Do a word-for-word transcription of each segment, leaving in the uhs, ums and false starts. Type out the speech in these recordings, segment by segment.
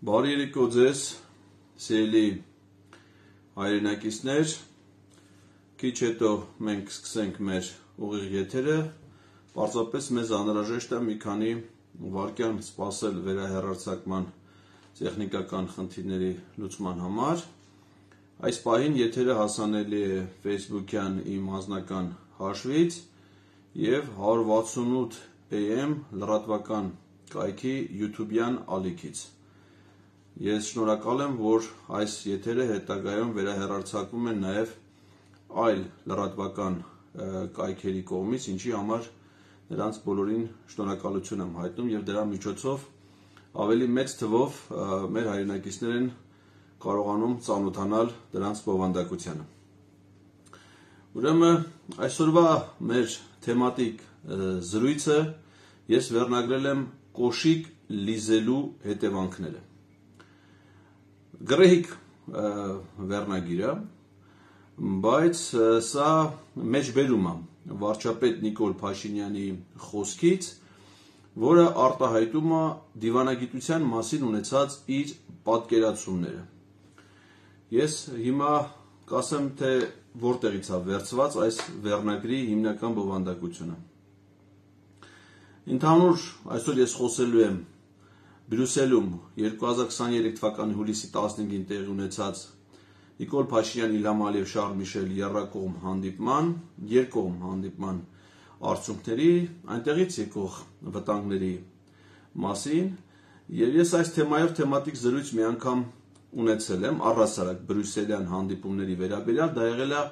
Բարի երեկո ձեզ, սիրելի հայրենակիցներ, քիչ հետո մենք սկսենք մեր ուղիղ եթերը, պարզապես մեզ անհրաժեշտ է մի քանի վայրկյան սպասել վերահեռարձակման տեխնիկական խնդիրների լուծման համար։ Այս պահին եթերը հասանելի է Facebook-յան իմ անձնական հաշվից և հարյուր վաթսունութ A M լրատվական կայքի YouTube-յան ալիքից։ Ես շնորհակալ եմ, որ այս եթերը հետագայում վերահեռարձակվում են նաև այլ լրատվական կայքերի կողմից, ինչի համար նրանց բոլորին շնորհակալություն եմ հայտնում և դրա միջոցով ավելի մեծ թվով մեր հայրենակիցներ են կարողանում ծանոթանալ դրանց բովանդակությանը։ Ուրեմն այսօրվա մեր թեմատիկ զրույցը ես վերնագրել եմ կոշիկ լիզելու հետևանքները։ Գրեհիկ վերնագիր է, բայց սա մեջբերում է վարչապետ Նիկոլ Փաշինյանի խոսքից, որը արտահայտում է դիվանագիտության մասին ունեցած իր պատկերացումները։ Ես հիմա կասեմ, թե որտեղից է վերցված այս վերնագրի հիմնական բովանդակությունը։ Ընդհանուր այսօր ես խոսելու եմ Բրյուսելում երկու հազար քսաներեք թվականի հուլիսի տասնհինգին տեղի ունեցած Նիկոլ Փաշինյան, Իլհամ Ալիև, Շարլ Միշել եռակողմ հանդիպման, երկկողմ հանդիպման արդյունքների, այնտեղից եկող վտանգների մասին, և ես այս թեմայով թեմատիկ զրույց մի անգամ ունեցել եմ առհասարակ բրյուսելյան հանդիպումների վերաբերյալ, դա եղել է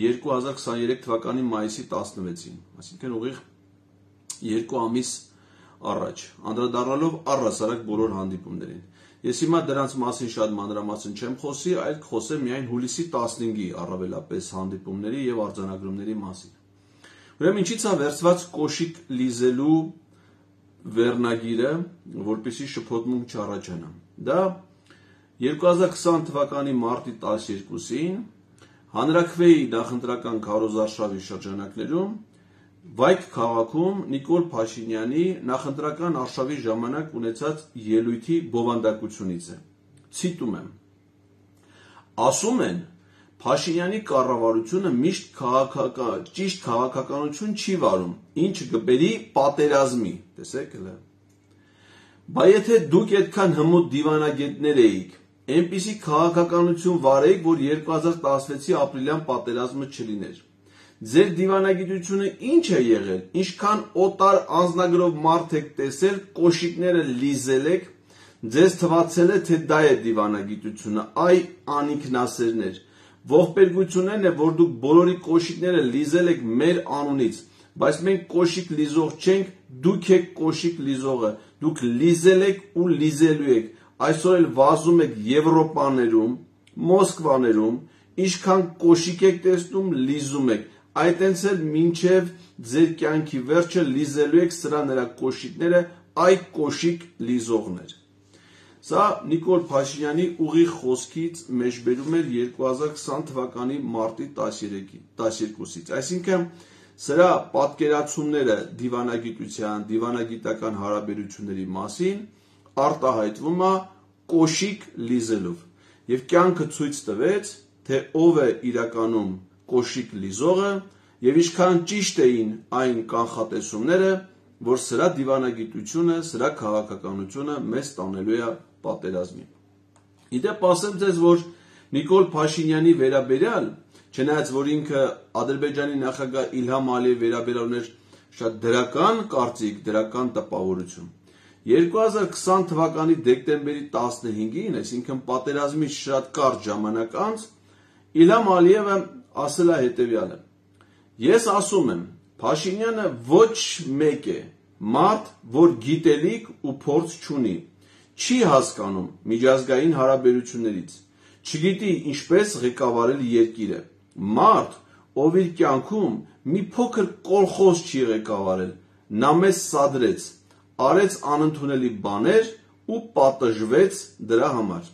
երկու հազար քսաներեք թվականի մայիսի տասնվեցին, այսինքն ուղիղ երկու ամիս առաջ, անդրադառնալով առհասարակ բոլոր հանդիպումներին։ Ես հիմա դրանց մասին շատ մանրամասն չեմ խոսի, այլ կխոսեմ միայն հուլիսի տասնհինգի առավելապես հանդիպումների և արձանագրումների մասին։ Ուրեմն ինչից է վերցված կոշիկ լիզելու վերնագիրը, որպեսզի շփոթմունք չառաջանա։ Դա երկու հազար քսան թվականի մարտի տասներկուսին հանրաքվեի նախընտրական քարոզարշավի շրջանակներում Վայք քաղաքում Նիկոլ Փաշինյանի նախընտրական արշավի ժամանակ ունեցած ելույթի բովանդակությունից է։ Ցիտում եմ. ասում են, Փաշինյանի կառավարությունը միշտ քաղաքական, ճիշտ քաղաքականություն չի վարում, ինչը կբերի պատերազմի, տեսեք հլը։ Բա եթե դուք այդքան հմուտ դիվանագետներ էիք, այնպիսի քաղաքականություն վարեիք, որ երկու հազար տասնվեցի ապրիլյան պատերազմը չլիներ։ Ձեր դիվանագիտությունը ինչ է եղել, ինչքան օտար անձնագրով մարդ եք տեսել, կոշիկները լիզել եք, ձեզ թվացել է, թե դա է դիվանագիտությունը, այ անիքնասերներ, ողբերգություններն է, որ դուք բոլորի կոշիկները լիզել եք մեր անունից, բայց մենք կոշիկ լիզող չենք, դուք եք կոշիկ լիզողը, դուք լիզել եք ու լիզելու եք, այսօր էլ վազում եք Եվրոպաներում, Մոսկվաներում, ինչքան կոշիկ եք տեսնում, լիզում եք, այտենց էլ մինչև ձեր կյանքի վերջը լիզելու եք սրա նրա կոշիկները, այ կոշիկ լիզողներ։ Սա Նիկոլ Փաշինյանի ուղիղ խոսքից մեջբերում էր երկու հազար քսան թվականի մարտի տասներկուսից, այսինքն սրա պատկերացումները դիվանագիտության, դիվանագիտական հարաբերությունների մասին արտահայտվում է կոշիկ լիզելով, և կյանքը ցույց տվեց, թե ով է իրականում կոշիկ լիզողը և ինչքան ճիշտ էին այն կանխատեսումները, որ սրա դիվանագիտությունը, սրա քաղաքականությունը մեզ տանելու է պատերազմի։ Իդեպ ասեմ ձեզ, որ Նիկոլ Փաշինյանի վերաբերյալ, չնայած որ ինքը Ադրբեջանի նախագահ Իլհամ Ալիևի վերաբերյալ ուներ շատ դրական կարծիք, դրական տպավորություն, երկու հազար քսան թվականի դեկտեմբերի տասնհինգին, այսինքն պատերազմից շատ կարճ ժամանակ անց, Իլհամ Ալիևը ասել է հետևյալը. Ես ասում եմ, Փաշինյանը ոչ մեկ է, մարդ, որ գիտելիք ու փորձ չունի, չի հասկանում միջազգային հարաբերություններից, չգիտի ինչպես ղեկավարել երկիրը, մարդ, ով իր կյանքում մի փոքր կոլխոզ չի ղեկավարել, նա մեզ սադրեց, արեց անընդունելի բաներ ու պատժվեց դրա համար։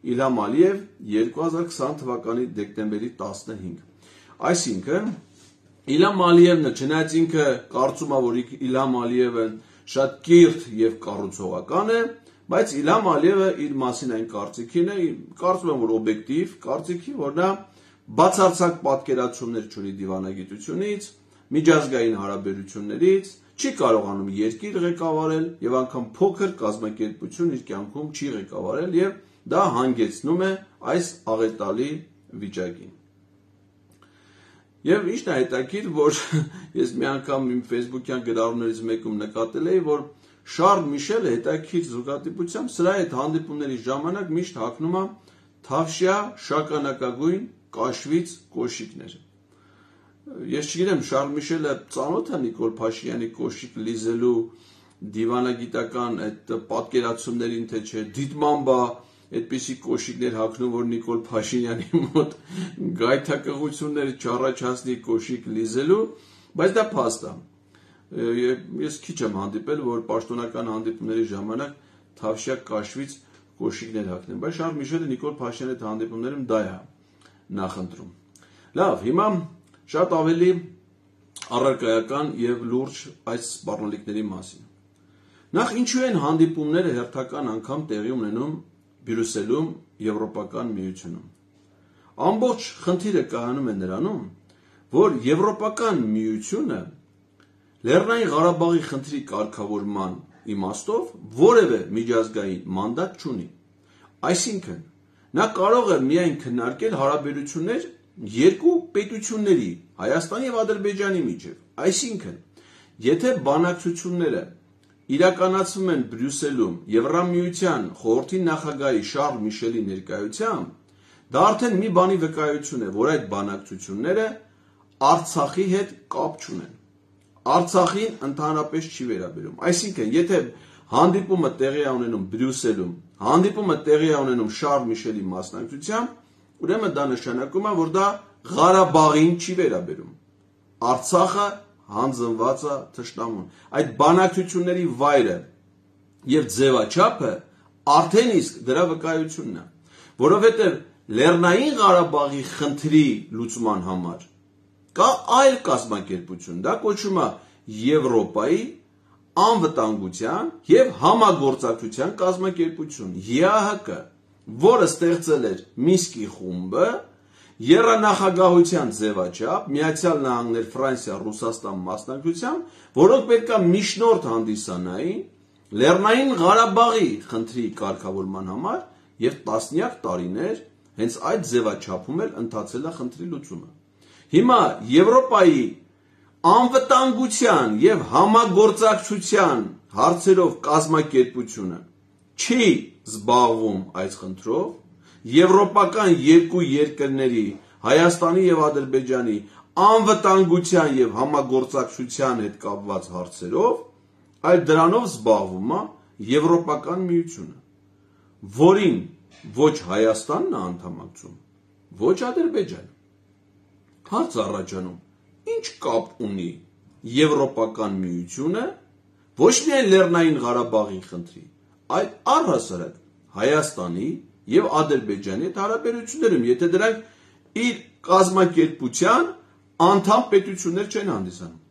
Իլհամ Ալիև երկու հազար քսան թվականի դեկտեմբերի տասնհինգ։ Այսինքն Իլհամ Ալիևն չնայած ինքը կարծում է, որ Իլհամ Ալիևը շատ կիրթ և կառուցողական է, Բայց Իլհամ Ալիևը իր մասին այն կարծիքին է, կարծում եմ, որ օբյեկտիվ կարծիքի, որ նա բացարձակ պատկերացումներ չունի դիվանագիտությունից, միջազգային հարաբերություններից, չի կարողանում երկիր ղեկավարել եւ անգամ փոքր կազմակերպություն իր կյանքում չի ղեկավարել եւ դա հանգեցնում է այս աղետալի վիճակին։ Եվ ինչն է հետաքրքիր, որ ես մի անգամ իմ Facebook-յան գրառումներից մեկում նկատել էի, որ Շարլ Միշելը հետաքրքիր զուգադիպությամբ սրա հետ հանդիպումների ժամանակ միշտ հագնում է թավշյա շագանակագույն կաշվից կոշիկներ։ Ես չգիտեմ, Շարլ Միշելը ծանոթ է Նիկոլ Փաշինյանի կոշիկ լիզելու դիվանագիտական այդ պատկերացումներին, թե չէ, դիտմամբ է այդպիսի կոշիկներ հագնում, որ Նիկոլ Փաշինյանի մոտ գայթակղություններ չառաջացնի կոշիկ լիզելու, բայց դա փաստ է։ Ես քիչ եմ հանդիպել, որ պաշտոնական հանդիպումների ժամանակ թավշյա կաշվից կոշիկներ հագնեն, բայց Շարլ Միշելը Նիկոլ Փաշինյանի հետ հանդիպումներում դա է նախընտրում։ Լավ, հիմա շատ ավելի առարկայական եւ լուրջ այս սպառնալիքների մասին։ Նախ ինչու են հանդիպումները հերթական անգամ տեղի ունենում Բրյուսելում, Եվրոպական միությունում։ Ամբողջ խնդիրը կայանում է նրանում, որ Եվրոպական միությունը Լեռնային Ղարաբաղի խնդրի կարգավորման իմաստով որևէ միջազգային մանդատ չունի։ Այսինքն, նա կարող է միայն քննարկել հարաբերություններ երկու պետությունների, Հայաստանի եւ Ադրբեջանի միջեւ։ Այսինքն, եթե բանակցությունները իրականացվում են Բրյուսելում Եվրամիության խորհրդի նախագահի Շարլ Միշելի ներկայությամբ, դա արդեն մի բանի վկայություն է, որ այդ բանակցությունները Արցախի հետ կապ չունեն։ Արցախին ընդհանրապես չի վերաբերում։ Այսինքն, եթե հանդիպումը տեղի է ունենում Բրյուսելում, հանդիպումը տեղի է ունենում Շարլ Միշելի մասնակցությամբ, ուրեմն դա նշանակում է, որ դա Ղարաբաղին չի վերաբերում։ Արցախը հանձնված է թշնամուն։ Այդ բանակցությունների վայրը եւ ձևաչափը արդեն իսկ դրա վկայությունն է, որովհետեւ Լեռնային Ղարաբաղի խնդրի լուծման համար կա այլ կազմակերպություն, դա կոչվում է Եվրոպայի անվտանգության եւ համագործակցության կազմակերպություն Ե Ա Հ Կ, որը ստեղծել էր Մինսկի խումբը եռանախագահության ձևաչափ, Միացյալ Նահանգներ, Ֆրանսիա, Ռուսաստան մասնակցությամբ, որոնք պետք է միջնորդ հանդիսանային Լեռնային Ղարաբաղի խնդրի կարգավորման համար եւ տասնյակ տարիներ հենց այդ ձևաչափում էլ ընթացել է խնդրի լուծումը։ Հիմա Եվրոպայի անվտանգության եւ համագործակցության հարցերով կազմակերպությունը չի զբաղվում այս խնդրով, եվրոպական երկու երկրների Հայաստանի եւ Ադրբեջանի անվտանգության եւ համագործակցության հետ կապված հարցերով, այլ դրանով զբաղվում է Եվրոպական միությունը, որին ոչ Հայաստանն է անդամակցում, ոչ Ադրբեջանը։ Հարց առաջանում, ինչ կապ ունի Եվրոպական միությունը ոչ միայն Լեռնային Ղարաբաղի խնդրի, այլ առհասարակ Հայաստանի եւ Ադրբեջանի հետ հարաբերություններում, եթե դրանք իր կազմակերպության անդամ պետություններ չեն հանդիսանում։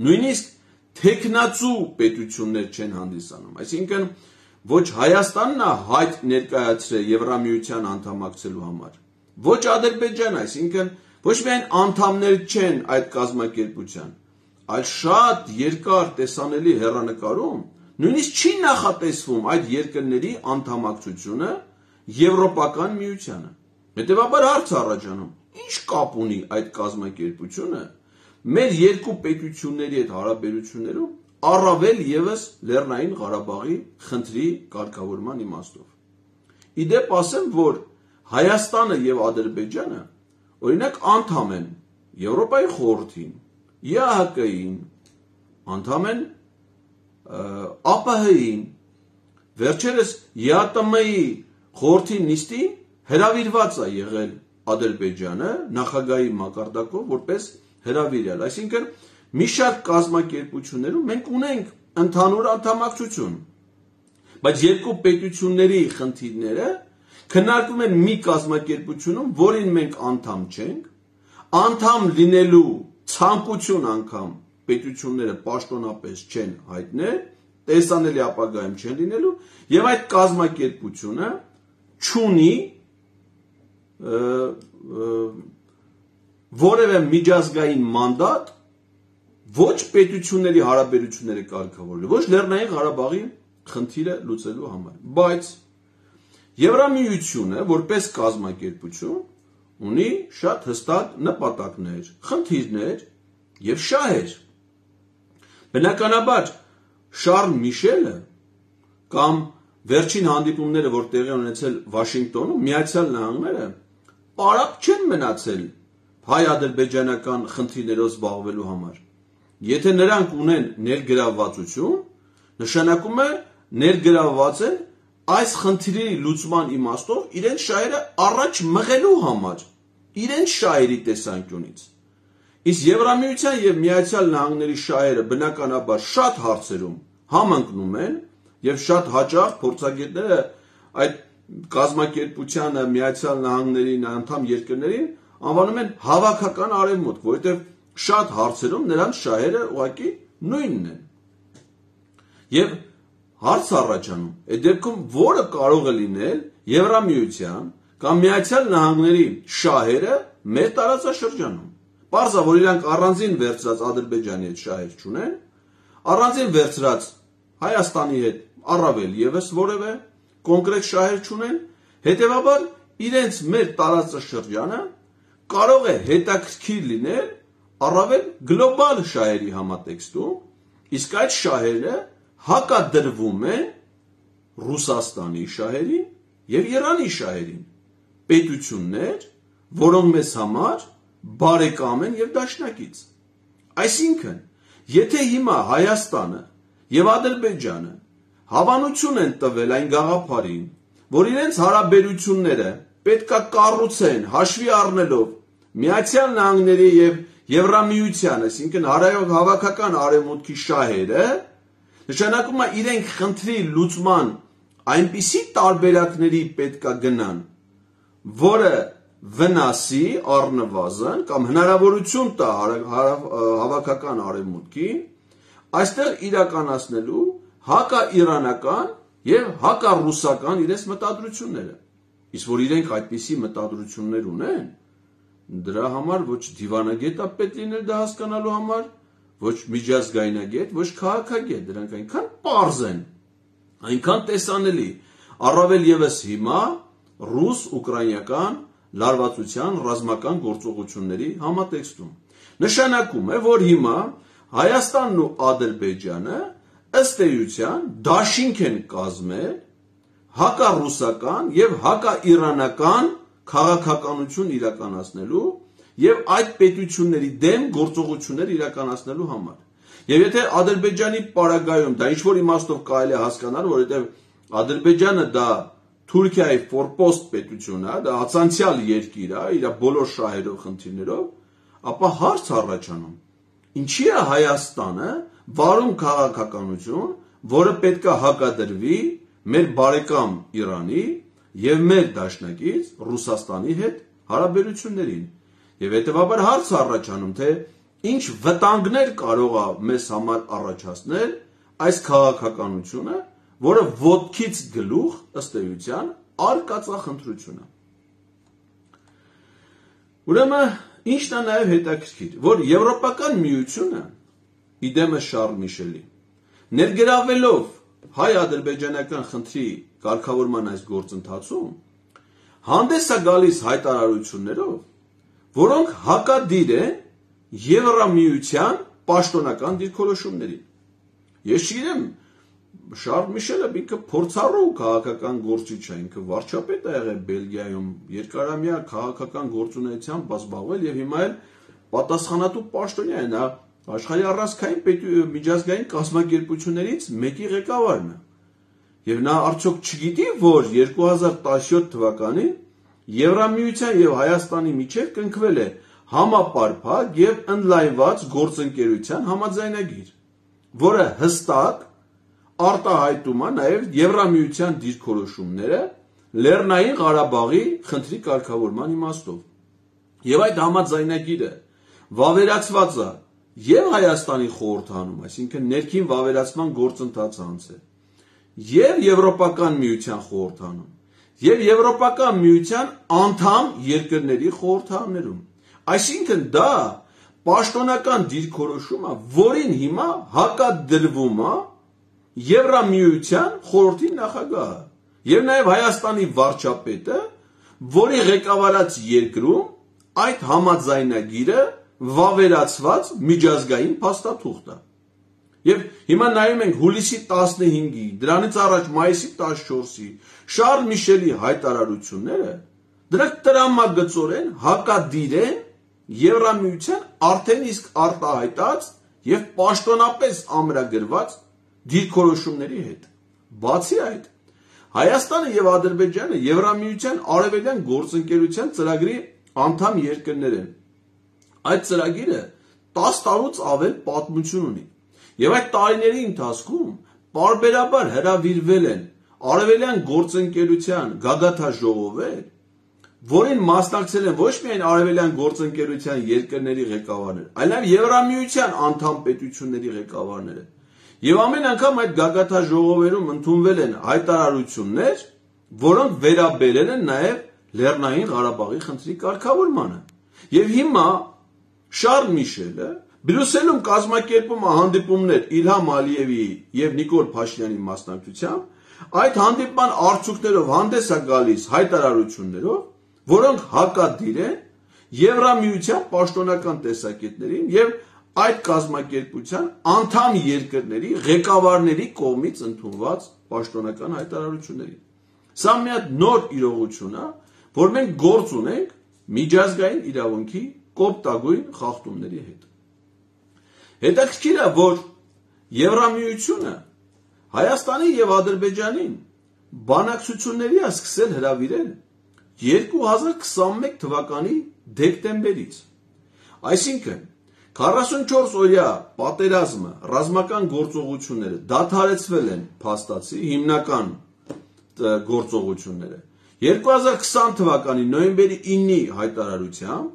Նույնիսկ թեկնածու պետություններ չեն հանդիսանում, այսինքն ոչ Հայաստանն է հայտ ներկայացրել Եվրամիության անդամակցելու համար, ոչ Ադրբեջանը, այսինքն ոչ միայն անդամներ չեն այդ կազմակերպության, այլ շատ երկար տեսանելի հեռանկարում նույնիսկ չի նախատեսվում այդ երկրների անդամակցությունը Եվրոպական միությանը։ Հետևաբար հարց առաջանում, ինչ կապ ունի այդ կազմակերպությունը մեր երկու պետությունների հետ հարաբերություններում, առավել եւս Լեռնային Ղարաբաղի խնդրի կարգավորման իմաստով։ Իդեպ ասեմ, որ Հայաստանը եւ Ադրբեջանը օրինակ անդամ են Եվրոպայի խորհրդին, Ե Ա Հ Կ-ին, անդամ են Ա Պ Հ-ին, վերջերս Ե Ա Տը Մ-ի խորհրդի նիստին հրավիրված է եղել Ադրբեջանը նախագահի մակարդակով որպես հրավիրյալ, այսինքն մի շարք կազմակերպություններում մենք ունենք ընդհանուր անդամակցություն, բայց երկու պետությունների խնդիրները քննարկվում են մի կազմակերպությունում, որին մենք անդամ չենք, անդամ լինելու ցանկություն անգամ պետությունները պաշտոնապես չեն հայտնել, տեսանելի ապագայում չեն լինելու, եւ այդ կազմակերպությունը չունի որևէ միջազգային մանդատ ոչ պետությունների հարաբերությունները կարգավորելու, ոչ Լեռնային Ղարաբաղի խնդիրը լուծելու համար, բայց Եվրամիությունը որպես կազմակերպություն ունի շատ հստակ նպատակներ, խնդիրներ եւ շահեր։ Բնականաբար Շարլ Միշելը կամ վերջին հանդիպումները, որ տեղի ունեցել Վաշինգտոնում, Միացյալ Նահանգները պարապ չեն մնացել հայ-ադրբեջանական խնդիրներով զբաղվելու համար։ Եթե նրանք ունեն ներգրավվածություն, նշանակում է ներգրավված են այս խնդիրի լուծման իմաստով իրենց շահերը առաջ մղելու համար, իրենց շահերի տեսանկյունից։ Իսկ Եվրամիության եւ Միացյալ Նահանգների շահերը բնականաբար շատ հարցերում համընկնում են եւ շատ հաճախ փորձագետները այդ կազմակերպությանը Միացյալ Նահանգներին անդամ երկրներին անվանում են հավաքական արևմուտք, որովհետեւ շատ հարցերում նրանց շահերը ուղղակի նույնն են։ Եվ հարց առաջանում, այդ դեպքում որը կարող է լինել Եվրամիության կամ Միացյալ Նահանգների շահերը մեր տարածաշրջանում։ Պարզ է, որ իրանք առանձին վերցրած Ադրբեջանի հետ շահեր չունեն, առանձին վերցրած Հայաստանի հետ առավել եւս որևէ կոնկրետ շահեր չունեն, հետեւաբար իրենց մեր տարածաշրջանը կարող է հետաքրքիր լինել առավել գլոբալ շահերի համատեքստում, իսկ այդ շահերը հակադրվում են Ռուսաստանի շահերին եւ Իրանի շահերին, պետություններ, որոնք մեզ համար բարեկամ են եւ դաշնակից։ Այսինքն, եթե հիմա Հայաստանը եւ Ադրբեջանը հավանություն են տվել այն գաղափարին, որ իրենց հարաբերությունները պետքա կառուցեն հաշվի առնելով Միացյալ Նահանգների եւ Եվրամիության, այսինքն հավաքական արևմուտքի շահերը, նշանակում է իրենք խնդրի լուծման այնպիսի տարբերակների պետքա գնան, որը վնասի առնվազն կամ հնարավորություն տա հավաքական արևմուտքին այստեղ իրականացնելու հակաիրանական եւ հակառուսական իրենց մտադրությունները։ Իսկ որ իրենք այդպիսի մտադրություններ ունեն, դրա համար ոչ դիվանագետ է պետք լինել դա հասկանալու համար, ոչ միջազգայնագետ, ոչ քաղաքագետ, դրանք այնքան պարզ են, այնքան տեսանելի, առավել եւս հիմա ռուս-ուկրաինական լարվածության ռազմական գործողությունների համատեքստում։ Նշանակում է, որ հիմա Հայաստանն ու Ադրբեջանը ըստ էության դաշինք են կազմել հակառուսական եւ հակաիրանական քաղաքականություն իրականացնելու եւ այդ պետությունների դեմ գործողություններ իրականացնելու համար։ Եվ եթե Ադրբեջանի պարագայում դա ինչ որ իմաստով կարելի է հասկանալ, որովհետեւ Ադրբեջանը դա Թուրքիայի ֆորպոստ պետություն է, դա ացանցիալ երկիր է, իր բոլոր շահերով, խնդիրներով, ապա հարց առաջանում. ինչի է Հայաստանը վարում քաղաքականություն, որը պետք է հակադրվի մեր բարեկամ Իրանի եւ մեր դաշնակից Ռուսաստանի հետ հարաբերություններին։ Եվ հետեւաբար հարց առաջանում, թե ինչ վտանգներ կարող է մեզ համար առաջացնել այս քաղաքականությունը, որը ոտքից գլուխ ըստ էության արկածախնդրությունը։ Ուրեմն ինչն է նաև հետաքրքիր, որ Եվրոպական միությունը իդեմը Շարլ Միշելի ներգրավելով հայ-ադրբեջանական խնդրի կարգավորման այս գործընթացում հանդես է գալիս հայտարարություններով, որոնք հակադիր են Եվրամիության պաշտոնական դիրքորոշումներին։ Ես չգիտեմ, Շարլ Միշելը ինքը փորձառու քաղաքական գործիչ է, ինքը վարչապետ է եղել Բելգիայում, երկարամյա քաղաքական գործունեությամբ զբաղվել եւ հիմա էլ պատասխանատու պաշտոնյա է, նա աշխարհի առանցքային միջազգային կազմակերպություններից մեկի ղեկավարն է։ Եվ նա արդյոք չգիտի, որ երկու հազար տասնյոթ թվականին Եվրամիության եւ Հայաստանի միջեւ կնքվել է համապարփակ եւ ընդլայնված գործընկերության համաձայնագիր, որը հստակ արտահայտում է նաեւ Եվրամիության դիրքորոշումները Լեռնային Ղարաբաղի խնդրի կարգավորման իմաստով։ Եվ այդ համաձայնագիրը վավերացված է եւ Հայաստանի խորհրդանում, այսինքն ներքին վավերացման գործընթացը անցել, եւ Եվրոպական միության խորհրդանում, եւ Եվրոպական միության անդամ երկրների խորհրդաներում։ Այսինքն դա պաշտոնական դիրքորոշում է, որին հիմա հակադրվում է Եվրամիության խորհրդի նախագահը եւ նաեւ Հայաստանի վարչապետը, որի ղեկավարած երկրում այդ համաձայնագիրը վավերացված միջազգային փաստաթուղթ է։ Եվ հիմա նայում ենք հուլիսի տասնհինգի, դրանից առաջ մայիսի տասնչորսի Շարլ Միշելի հայտարարությունները, դրանք տրամագծորեն հակադիր են Եվրամիության արդեն իսկ արտահայտած եւ պաշտոնապես ամրագրված դիրքորոշումների հետ։ Բացի այդ, Հայաստանը եւ Ադրբեջանը Եվրամիության արևելյան գործընկերության ծրագրի անդամ երկրներ են։ Այդ ծրագիրը տասը տարուց ավել պատմություն ունի։ Եվ այդ տարիների ընթացքում պարբերաբար հրավիրվել են արևելյան գործընկերության գագաթաժողովներ, որին մասնակցել են ոչ միայն արևելյան գործընկերության երկրների ղեկավարներ, այլ նաև Եվրամիության անդամ պետությունների ղեկավարները։ Եվ ամեն անգամ այդ գագաթաժողովերում ընդունվել են հայտարարություններ, որոնք վերաբերել են նաև Լեռնային Ղարաբաղի խնդրի կարգավորմանը։ Եվ հիմա Շարլ Միշելը Բրյուսելում կազմակերպում է հանդիպումներ Իլհամ Ալիևի եւ Նիկոլ Փաշինյանի մասնակցությամբ, այդ հանդիպման արդյունքներով հանդես է գալիս հայտարարություններով, որոնք հակադիր են Եվրամիության պաշտոնական տեսակետներին եւ այդ կազմակերպության անդամ երկրների ղեկավարների կողմից ընդունված պաշտոնական հայտարարություններին։ Սա մի հատ նոր իրողություն է, որ մենք գործ ունենք միջազգային իրավունքի կոպտագույն խախտումների հետ։ Հետաքրքիր է, որ Եվրամիությունը Հայաստանի եւ Ադրբեջանին բանակցությունների է սկսել հրավիրել երկու հազար քսանմեկ թվականի դեկտեմբերից։ Այսինքն քառասունչորս օրյա պատերազմը, ռազմական գործողությունները դադարեցվել են փաստացի հիմնական գործողությունները երկու հազար քսան թվականի նոյեմբերի ինի հայտարարությամբ,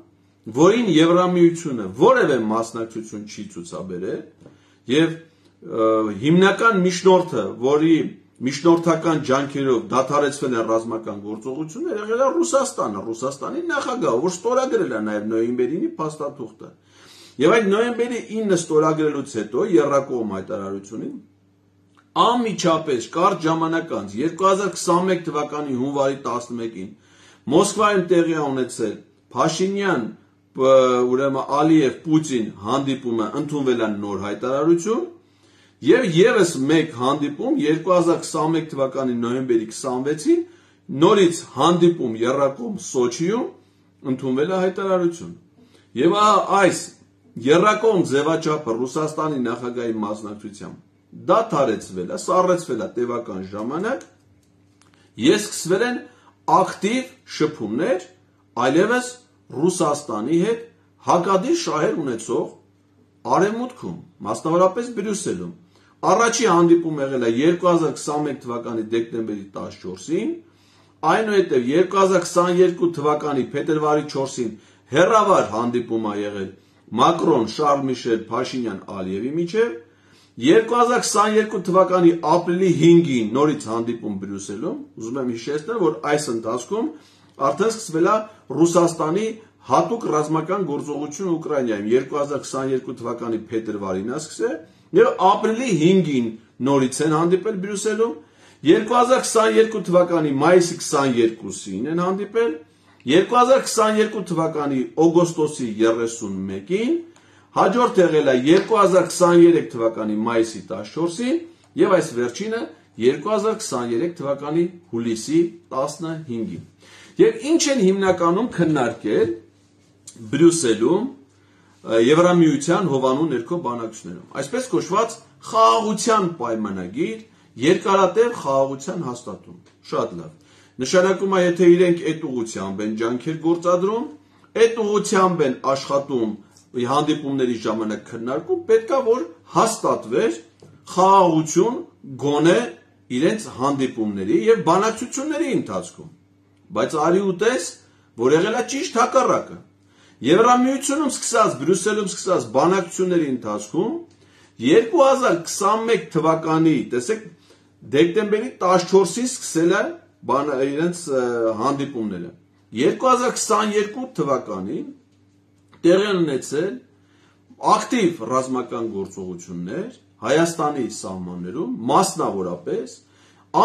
որին Եվրամիությունը որևէ մասնակցություն չի ցուցաբերել եւ հիմնական միջնորդը, որի միջնորդական ջանքերով դադարեցվել են ռազմական գործողությունները, եղել է Ռուսաստանը, Ռուսաստանի նախագահը, որ ստորագրել է նաեւ նոյեմբերի ինի փաստաթուղթը։ Եվ այդ նոյեմբերի ինը ստորագրելուց հետո եռակողմ հայտարարությունին անմիջապես կարճ ժամանակ անց երկու հազար քսանմեկ թվականի հունվարի տասնմեկին Մոսկվայում տեղի ունեցել Փաշինյան, ուրեմն Ալիև, Պուտին հանդիպումը ընդունվել է նոր հայտարարություն եւ եւս մեկ հանդիպում երկու հազար քսանմեկ թվականի նոյեմբերի քսանվեցին նորից հանդիպում եռակողմ Սոչիում ընդունվել է հայտարարություն։ Եվ այս եռակողմ ձևաչափը Ռուսաստանի նախագահի մասնակցությամբ դադարեցվել է, սառեցվել է տևական ժամանակ, եւ սկսվել են ակտիվ շփումներ այլևս Ռուսաստանի հետ հակադիր շահեր ունեցող արևմուտքում, մասնավորապես Բրյուսելում։ Առաջի հանդիպումը եղել է երկու հազար քսանմեկ թվականի դեկտեմբերի տասնչորսին, այնուհետև երկու հազար քսաներկու թվականի փետրվարի չորսին հերավար հանդիպում է եղել Մակրոն, Շարլ Միշել, Փաշինյան, Ալիևի միջև, երկու հազար քսաներկու թվականի ապրիլի հինգին նորից հանդիպում Բրյուսելում, ուզում եմ հիշեցնել, որ այս ընթացքում արդեն սկսվել է Ռուսաստանի հատուկ ռազմական գործողություն Ուկրաինայում, երկու հազար քսաներկու թվականի փետրվարին է սկսել, եւ ապրիլի հինգին նորից են հանդիպել Բրյուսելում, երկու հազար քսաներկու թվականի մայիսի քսաներկուսին են հանդիպել, երկու հազար քսաներկու թվականի օգոստոսի երեսունմեկին, հաջորդ եղել է երկու հազար քսաներեք թվականի մայիսի տասնչորսին եւ այս վերջինը երկու հազար քսաներեք թվականի հուլիսի տասնհինգին։ Եվ ինչ են հիմնականում քննարկել Բրյուսելում Եվրամիության հովանու ներքո բանակցություններում, այսպես կոչված խաղաղության պայմանագիր, երկարատև խաղաղության հաստատում։ Շատ լավ։ Նշանակում է, եթե իրենք այդ ուղղությամբ են ջանքեր գործադրում, այդ ուղղությամբ են աշխատում հանդիպումների ժամանակ քննարկում, պետքա որ հաստատվեր խաղաղություն գոնե իրենց հանդիպումների եւ բանակցությունների ընթացքում։ Բայց արի ուտես, որ եղել է ճիշտ հակառակը։ Եվրամիությունում սկսած, Բրյուսելում սկսած բանակցությունների ընթացքում երկու հազար քսանմեկ թվականի, տեսեք, դեկտեմբերի տասնչորսին սկսել է իրենց հանդիպումները։ երկու հազար քսաներկու թվականին տեղի են ունեցել ակտիվ ռազմական գործողություններ Հայաստանի սահմաններում, մասնավորապես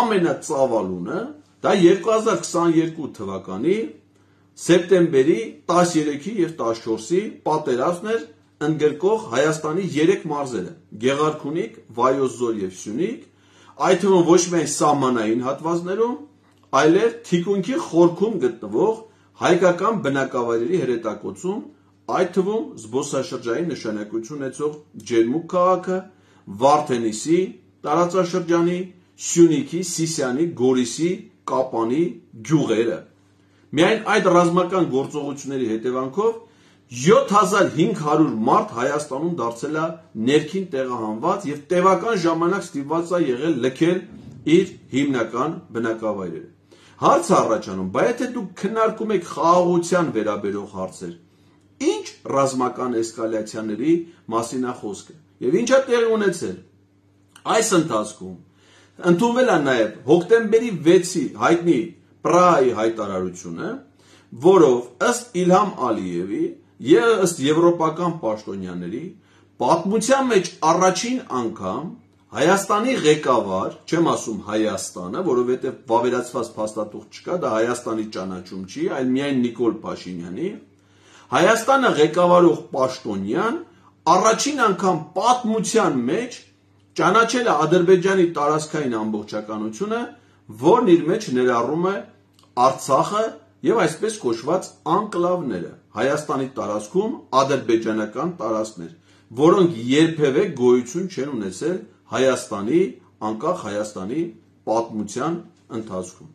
ամենածավալունը դա երկու հազար քսաներկու թվականի սեպտեմբերի տասներեքի և տասնչորսի պատերազմն էր, ընդգրկող Հայաստանի երեք մարզերը՝ Գեղարքունիք, Վայոց ձոր և Սյունիք, այդ թվում ոչ միայն սահմանային հատվածներում, այլև թիկունքի խորքում գտնվող հայկական բնակավայրերի հրետակոցում, այդ թվում զբոսաշրջային նշանակություն ունեցող Ջերմուկ քաղաքը, Վարդենիսի տարածաշրջանի, Սյունիքի, Սիսիանի, Գորիսի, Կապանի գյուղերը։ Միայն այդ ռազմական գործողությունների հետևանքով յոթ հազար հինգ հարյուր մարդ Հայաստանում դարձել է ներքին տեղահանված և տևական ժամանակ ստիպված է եղել լքել իր հիմնական բնակավայրերը։ Հարց է առաջանում, բայց եթե դուք քննարկում եք խաղաղության վերաբերող հարցեր, ինչ ռազմական էսկալացիաների մասին է խոսքը և ինչ է տեղի ունեցել։ Այս ընթացքում ընդունվել է նաև հոկտեմբերի վեցի հայտնի Պրահայի հայտարարությունը, որով ըստ Իլհամ Ալիևի և ըստ եվրոպական պաշտոնյաների պատմության մեջ առաջին անգամ Հայաստանի ղեկավար, չեմ ասում Հայաստանը, որովհետև վավերացված փաստաթուղթ չկա, դա Հայաստանի ճանաչում չի, այլ միայն Նիկոլ Փաշինյանի, Հայաստանը ղեկավարող պաշտոնյան առաջին անգամ պատմության մեջ ճանաչել է Ադրբեջանի տարածքային ամբողջականությունը, որն իր մեջ ներառում է Արցախը և այսպես կոչված անկլավները, Հայաստանի տարածքում ադրբեջանական տարածքներ, որոնք երբևէ գոյություն չեն ունեցել Հայաստանի, անկախ Հայաստանի պատմության ընթացքում։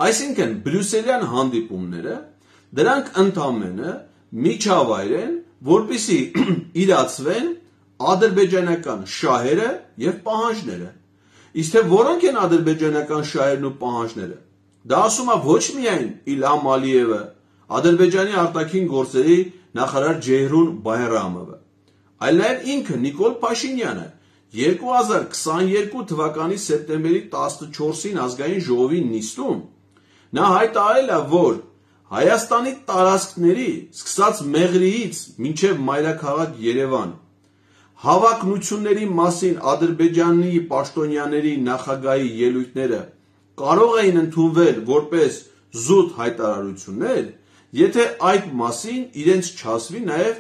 Այսինքն բրյուսելյան հանդիպումները դրանք ընդամենը միջավայր են, որպեսզի իրացվեն ադրբեջանական շահերը և պահանջները։ Իսկ թե որոնք են ադրբեջանական շահերն ու պահանջները, դա ասում է ոչ միայն Իլհամ Ալիևը, Ադրբեջանի արտաքին գործերի նախարար Ջեյհրուն Բայրամովը, այլ նաև ինքը Նիկոլ Փաշինյանը երկու հազար քսաներկու թվականի սեպտեմբերի տասնչորսին ազգային ժողովի նիստում նա հայտարարել է, որ Հայաստանի տարածքների սկսած Մեղրիից մինչև մայրաքաղաք Երևան հավակնությունների մասին Ադրբեջանի պաշտոնյաների նախագահի ելույթները կարող էին ընդունվել որպես զուտ հայտարարություններ, եթե այդ մասին իրենց չասվի նաև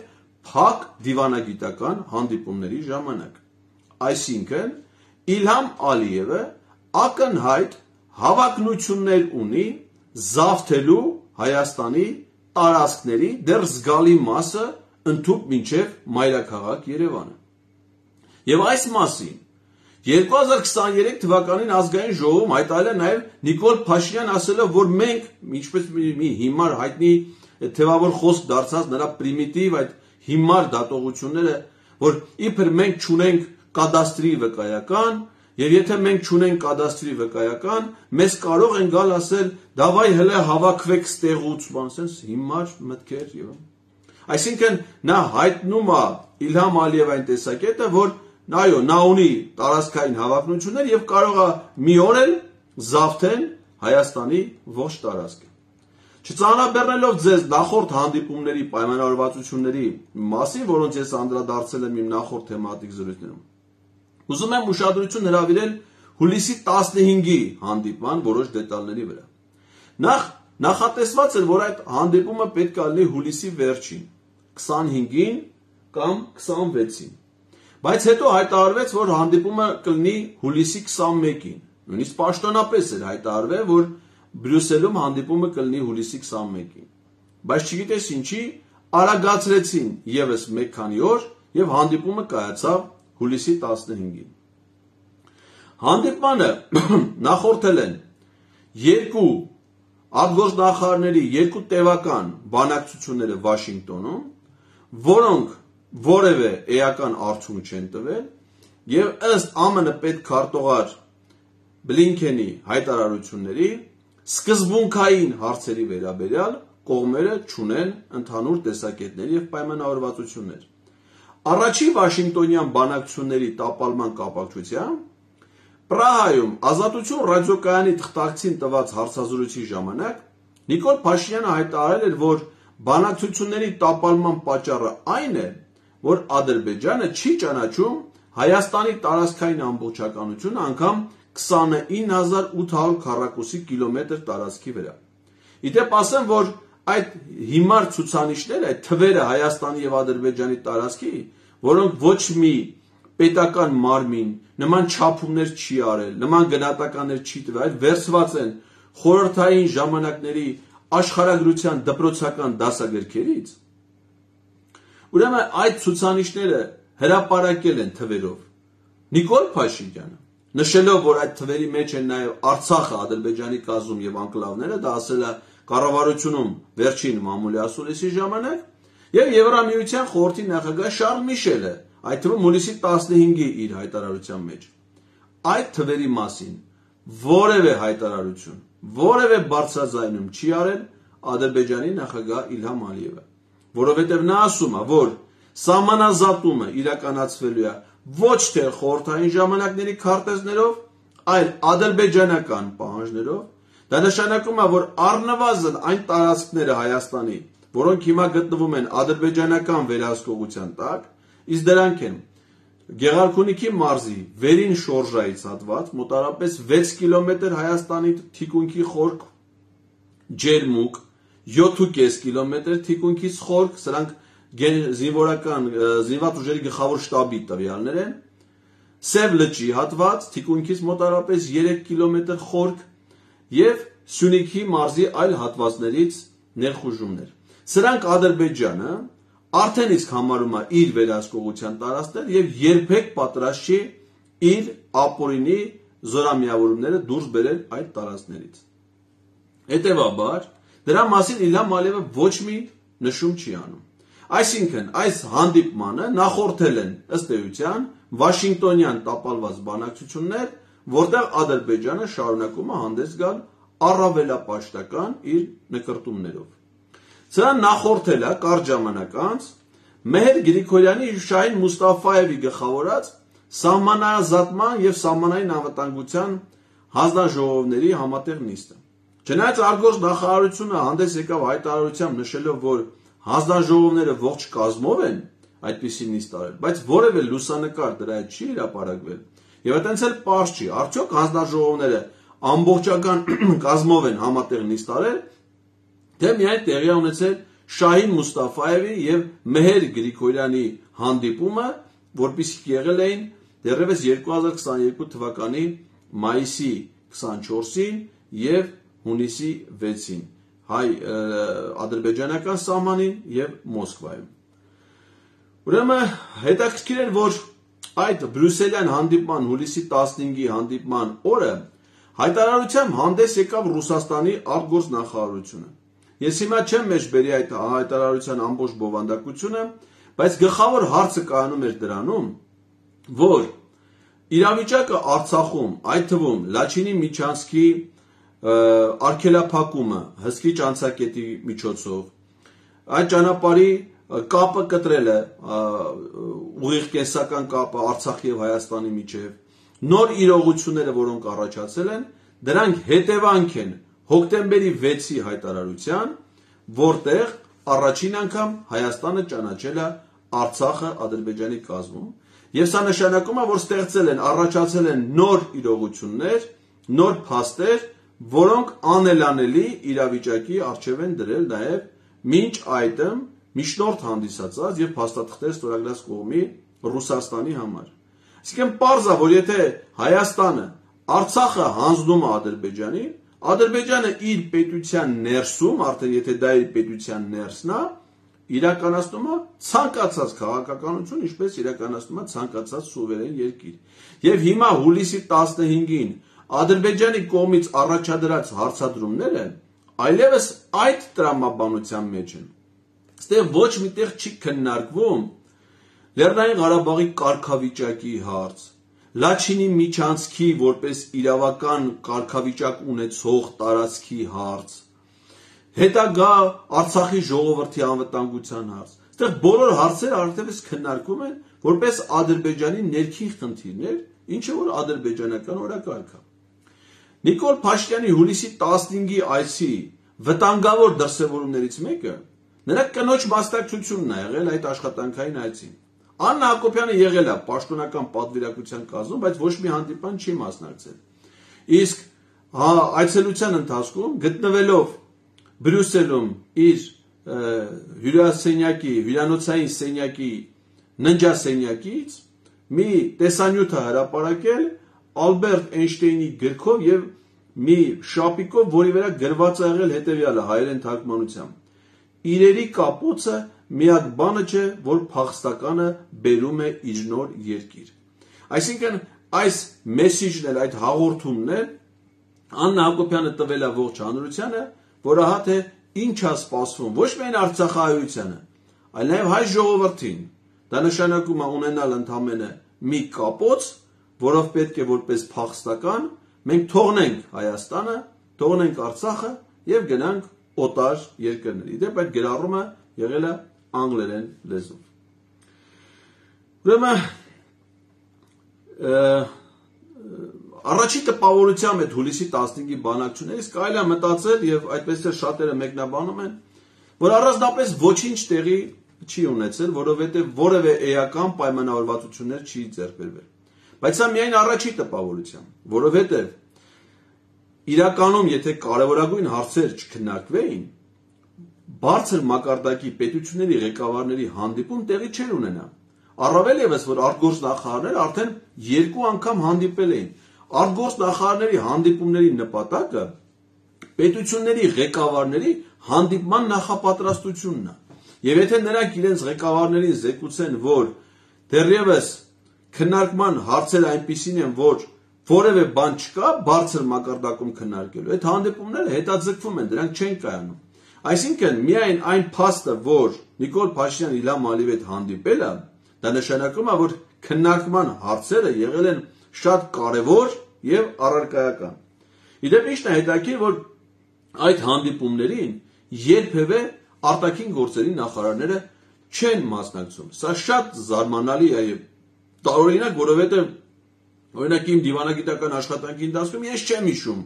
փակ դիվանագիտական հանդիպումների ժամանակ։ Այսինքն Իլհամ Ալիևը ակնհայտ հավակնություններ ունի զավթելու Հայաստանի տարածքների դեռ զգալի մասը ընդհուպ մինչև մայրաքաղաք Երևանը։ Եվ այս մասին երկու հազար քսաներեք թվականին ազգային ժողովում հայտարարել է նաև Նիկոլ Փաշինյան, ասելով, որ մենք, ինչպես մի հիմար հայտնի թևավոր խոսք դարձած նրա պրիմիտիվ այդ հիմար դատողությունները, որ իբր մենք չունենք կադաստրի վկայական, եւ եթե մենք չունենք կադաստրի վկայական, մեզ կարող են գալ ասել, դավայ հələ հավաքվեք ստեղուց, բան, sense հիմար մտքեր եւ այսինքն նա հայտնում է Իլհամ Ալիևային տեսակետը, որ այո, նա ունի տարածքային հավակնություններ եւ կարող է մի օր էլ զավթեն Հայաստանի ողջ տարածքը։ Չծանրաբեռնելով ձեզ նախորդ հանդիպումների պայմանավորվածությունների մասին, որոնց ես անդրադարձել եմ իմ նախորդ թեմատիկ զրույցներում, ուզում եմ ուշադրություն հրավիրել հուլիսի տասնհինգի հանդիպման որոշ դետալների վրա։ Նախ նախատեսված էր, որ այդ հանդիպումը պետք է լինի հուլիսի վերջին, քսանհինգին կամ քսանվեցին, բայց հետո հայտարարվեց, որ հանդիպումը կլինի հուլիսի քսանմեկին, նույնիսկ պաշտոնապես էր հայտարարվել, որ Բրյուսելում հանդիպումը կլինի հուլիսի քսանմեկին, բայց չգիտես ինչի արագացրեցին եւս մեկ քանի օր եւ հանդիպումը կայացավ հուլիսի տասնհինգին։ Հանդիպմանը նախորդել են երկու արտգործնախարարների երկու տևական բանակցությունները Վաշինգտոնում, որոնք որևէ էական արդյունք չեն տվել եւ ըստ ԱՄՆ պետքարտուղար Բլինքենի հայտարարությունների սկզբունքային հարցերի վերաբերյալ կողմերը չունեն ընդհանուր տեսակետներ եւ պայմանավորվածություններ։ Առաջի Վաշինգտոնյան բանակցությունների տապալման կապակցությամբ Պրահայում Ազատություն ռադիոկայանի թղթակցին տված հարցազրույցի ժամանակ Նիկոլ Փաշինյանը հայտարարել էր, որ բանակցությունների տապալման պատճառը այն է, որ Ադրբեջանը չի ճանաչում Հայաստանի տարածքային ամբողջականությունը անգամ քսանինը հազար ութ հարյուր քառակուսի կիլոմետր տարածքի վրա։ Իդեպ ասեմ, որ այդ հիմար ցուցանիշները, այդ թվերը Հայաստանի եւ Ադրբեջանի տարածքի, որոնք ոչ մի պետական մարմին նման չափումներ չի արել, նման գնահատականներ չի տվել, այլ վերցված են խորհրդային ժամանակների աշխարհագրության դպրոցական դասագրքերից։ Ուրեմն այդ ցուցանիշները հրապարակել են թվերով Նիկոլ Փաշինյանը, նշելով, որ այդ թվերի մեջ են նաև Արցախը, Ադրբեջանի կազմում եւ անկլավները, դա ասել է կառավարությունում վերջին մամուլի ասուլիսի ժամանակ, եւ Եվրամիության խորհրդի նախագահ Շարլ Միշելը, այդ թվում հուլիսի տասնհինգի իր հայտարարության մեջ այդ թվերի մասին որևէ հայտարարություն, որևէ բարձրաձայնում չի արել Ադրբեջանի նախագահ Իլհամ Ալիևը, որովհետև նա ասում է, որ սահմանազատումը իրականացվելու է ոչ թե խորհրդային ժամանակների քարտեզներով, այլ ադրբեջանական պահանջներով, դա նշանակում է, որ առնվազն այն տարածքները Հայաստանի, որոնք հիմա գտնվում են ադրբեջանական վերահսկողության տակ, իսկ դրանք են Գեղարքունիքի մարզի վերին շորժայից հատված, մոտարապես վեց կիլոմետր Հայաստանի թիկունքի խորք ջերմուկ, յոթ ու կես կիլոմետր թիկունքից խորք, սրանք զինվորական զինված ուժերի գլխավոր շտաբի տվյալներ են, Սև լճի հատված, թիկունքից մոտարապես երեք կիլոմետր խորք եւ Սյունիքի մարզի այլ հատվածներից ներխուժումներ։ Սրանք Ադրբեջանը արդեն իսկ համարում է իր վերահսկողության տարածքներ եւ երբեք պատրաստ չի իր ապօրինի զորամիավորումները դուրս բերել այդ տարածքներից։ Հետևաբար, դրա մասին Իլհամ Ալիևը ոչ մի նշում չի անում։ Այսինքն, այս հանդիպմանը նախորդել են ըստ էության Վաշինգտոնյան տապալված բանակցություններ, որտեղ Ադրբեջանը շարունակում է հանդես գալ առավելապաշտական իր նկրտումներով։ Սրան նախորդել է կարճ ժամանակ անց Մեհեր Գրիգորյանի եւ Շահին Մուստաֆաևի գլխավորած սահմանազատման եւ սահմանային անվտանգության հանձնաժողովների համատեղ նիստը։ Չնայած արգոս նախարարությունը հանդես եկավ հայտարարությամբ նշելով, որ հանձնաժողովները ողջ կազմով են այդպիսի նիստ արել, բայց որևէ լուսանկար դրա հետ չի հրապարակվել։ Եվ այդտենց էլ պարզ չի, արդյոք հանձնաժողովները ամբողջական կազմով են համատեղ նիստ արել, թե միայն տեղի ունեցել Շահին Մուստաֆաևի եւ Մեհեր Գրիգորյանի հանդիպումը, որպիսիք եղել էին դեռևս երկու հազար քսաներկու թվականի մայիսի քսանչորսին եւ հունիսի վեցին հայ ադրբեջանական սահմանին եւ Մոսկվայում։ Ուրեմն հետաքրքիր էր, որ այդ բրյուսելյան հանդիպման հուլիսի տասնհինգի հանդիպման օրը հայտարարությամբ հանդես եկավ Ռուսաստանի արտգործնախարարությունը։ Ես հիմա չեմ մեջբերի այդ հայտարարության ամբողջ բովանդակությունը, բայց գլխավոր հարցը կայանում էր դրանում, որ իրավիճակը Արցախում, այդ թվում Լաչինի միջանցքի արգելափակումը հսկիչ անցակետի միջոցով, այդ ճանապարհի կապը կտրելը, ուղիղ կենսական կապը Արցախի եւ Հայաստանի միջև, նոր իրողությունները, որոնք առաջացել են, դրանք հետևանք են հոկտեմբերի վեցի հայտարարության, որտեղ առաջին անգամ Հայաստանը ճանաչել է Արցախը Ադրբեջանի կազմում, եւ սա նշանակում է, որ ստեղծել են, առաջացել են նոր իրողություններ, նոր փաստեր, որոնք անելանելի իրավիճակի առջև են դրել նաեւ մինչ այդմ միջնորդ հանդիսացած եւ փաստաթղթեր ստորագրած կողմի Ռուսաստանի համար։ Այսինքն պարզ է, որ եթե Հայաստանը Արցախը հանձնում է Ադրբեջանին, Ադրբեջանը իր պետության ներսում, արդեն եթե դա իր պետության ներսն է, իրականացնում է ցանկացած քաղաքականություն, ինչպես իրականացնում է ցանկացած սուվերեն երկիր։ Եվ հիմա հուլիսի տասնհինգին Ադրբեջանի կողմից առաջադրած հարցադրումները այլևս այդ տրամաբանության մեջ են։ Այստեղ ոչ միտեղ չի քննարկվում Լեռնային Ղարաբաղի կարգավիճակի հարց, Լաչինի միջանցքի որպես իրավական կարգավիճակ ունեցող տարածքի հարց, հետագա Արցախի ժողովրդի անվտանգության հարց։ Այստեղ բոլոր հարցերը արդյունավետ քննարկում են որպես Ադրբեջանի ներքին խնդիրներ, ինչը որ ադրբեջանական օրակարգ է։ Նիկոլ Փաշինյանի հուլիսի տասնհինգի այցի վտանգավոր դրսևորումներից մեկը նրա կնոջ մասնակցությունն է եղել այդ աշխատանքային այցին։ Աննա Հակոբյանը եղել է պաշտոնական պատվիրակության կազմում, բայց ոչ մի հանդիպան չի մասնակցել։ Իսկ հա, այցելության ընթացքում գտնվելով Բրյուսելում իր հյուրասենյակի, հյուրանոցային սենյակի ննջասենյակից մի տեսանյութ է հրապարակել Ալբերտ Էյնշտեյնի գրքով եւ մի շապիկով, որի վրա գրված է եղել հետեւյալը հայերեն թարգմանությամբ. Իրերի կապոցը միակ բանը չէ, որ փախստականը բերում է իր նոր երկիր։ Այսինքն այս մեսիջն էլ, այդ հաղորդումն էլ Աննա Հակոբյանը տվել է ողջ հանրությանը, որ ահա թե ինչ է սպասվում ոչ միայն արցախահայությանը, այլ նաև հայ ժողովրդին։ Դա նշանակում է ունենալ ընդամենը մի կապոց, որով պետք է որպես փախստական մենք թողնենք Հայաստանը, թողնենք Արցախը եւ գնանք օտար երկրների։ Դեպ այդ գրառումը եղել է անգլերեն լեզվով։ Ուրեմն առաջի տպավորությամբ այդ հուլիսի տասնհինգի բանակցություններից կարելի է մտածել եւ այդպես էլ շատերը մեկնաբանում են, որ առանձնապես ոչինչ տեղի չի ունեցել, որովհետեւ որևէ էական պայմանավորվածություններ չի ձեռք բերվել։ Բայց սա միայն առաջի տպավորությամբ, որովհետեւ իրականում եթե կարևորագույն հարցեր չքննարկվեին, բարձր մակարդակի պետությունների ղեկավարների հանդիպում տեղի չէր ունենա։ Առավել եւս, որ արտգործնախարարները արդեն երկու անգամ հանդիպել էին։ Արտգործնախարարների հանդիպումների նպատակը պետությունների ղեկավարների հանդիպման նախապատրաստությունն է։ Եվ եթե նրանք իրենց ղեկավարներին զեկուցեն, որ դեռևս քննարկման հարցերը այնպիսին են, որ որևէ բան չկա բարձր մակարդակում քննարկելու, այդ հանդիպումները հետաձգվում են, դրանք չեն կայանում։ Այսինքն միայն այն փաստը, որ Նիկոլ Փաշինյանը Իլհամ Ալիևի հետ հանդիպել է, դա նշանակում է, որ քննարկման հարցերը եղել են շատ կարևոր եւ առարկայական։ Իդեպ ինչն է հետաքրքիր, որ այդ հանդիպումներին երբևէ արտաքին գործերի նախարարները չեն մասնակցում։ Սա շատ զարմանալի է եւ տարօրինակ, որովհետեւ օրինակ իմ դիվանագիտական աշխատանքի ընթացքում ես չեմ հիշում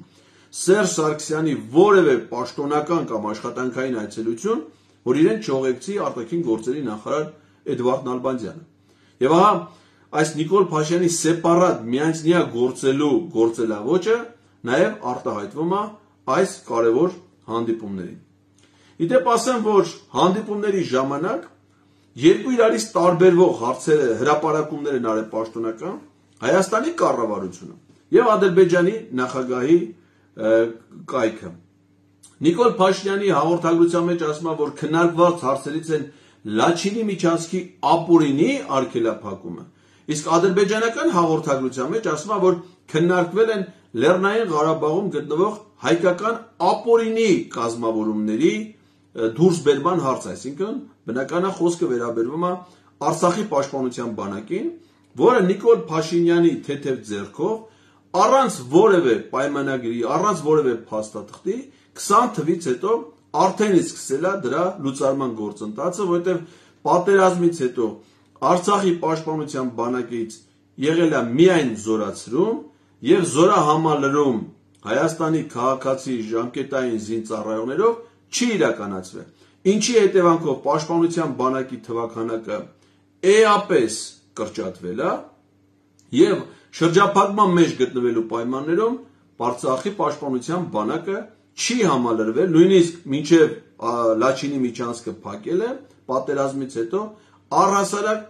Սերժ Սարգսյանի որևէ պաշտոնական կամ աշխատանքային այցելություն, որ իրեն չողեկցի արտաքին գործերի նախարար Էդվարդ Նալբանդյանը։ Եվ ահա այս Նիկոլ Փաշինյանի սեպարատ միանձնյա գործելու գործելավոճը նաև արտահայտվում է այս կարևոր հանդիպումներին։ Իդեպ ասեմ, որ հանդիպումների ժամանակ երկու իրարից տարբերվող հարցերը, հրապարակումներ են արել պաշտոնական Հայաստանի կառավարությունը եւ Ադրբեջանի նախագահի կայքը։ Նիկոլ Փաշինյանի հաղորդագրության մեջ ասում է, որ քննարկված հարցերից են Լաչինի միջանցքի ապօրինի արգելափակումը, իսկ ադրբեջանական հաղորդագրության մեջ ասում է, որ քննարկվել են Լեռնային Ղարաբաղում գտնվող հայկական ապօրինի կազմավորումների դուրսբերման հարց, այսինքն բնական է խոսքը վերաբերվում է Արցախի պաշտպանության բանակին, որը Նիկոլ Փաշինյանի թեթև ձեռքով առանց որևէ պայմանագրի, առանց որևէ փաստաթղթի քսան թվականից հետո արդեն իսկ սկսել է դրա լուծարման գործընթացը, որովհետև պատերազմից հետո Արցախի պաշտպանության բանակից եղել է միայն զորացրում եւ զորահամալրում Հայաստանի քաղաքացի ժամկետային զինծառայողներով չի իրականացվել, ինչի հետևանքով պաշտպանության բանակի թվաքանակը էապես կրճատվել է եւ շրջափակման մեջ գտնվելու պայմաններում Արցախի պաշտպանության բանակը չի համալրվել, նույնիսկ մինչև Լաչինի միջանցքը փակել է պատերազմից հետո առհասարակ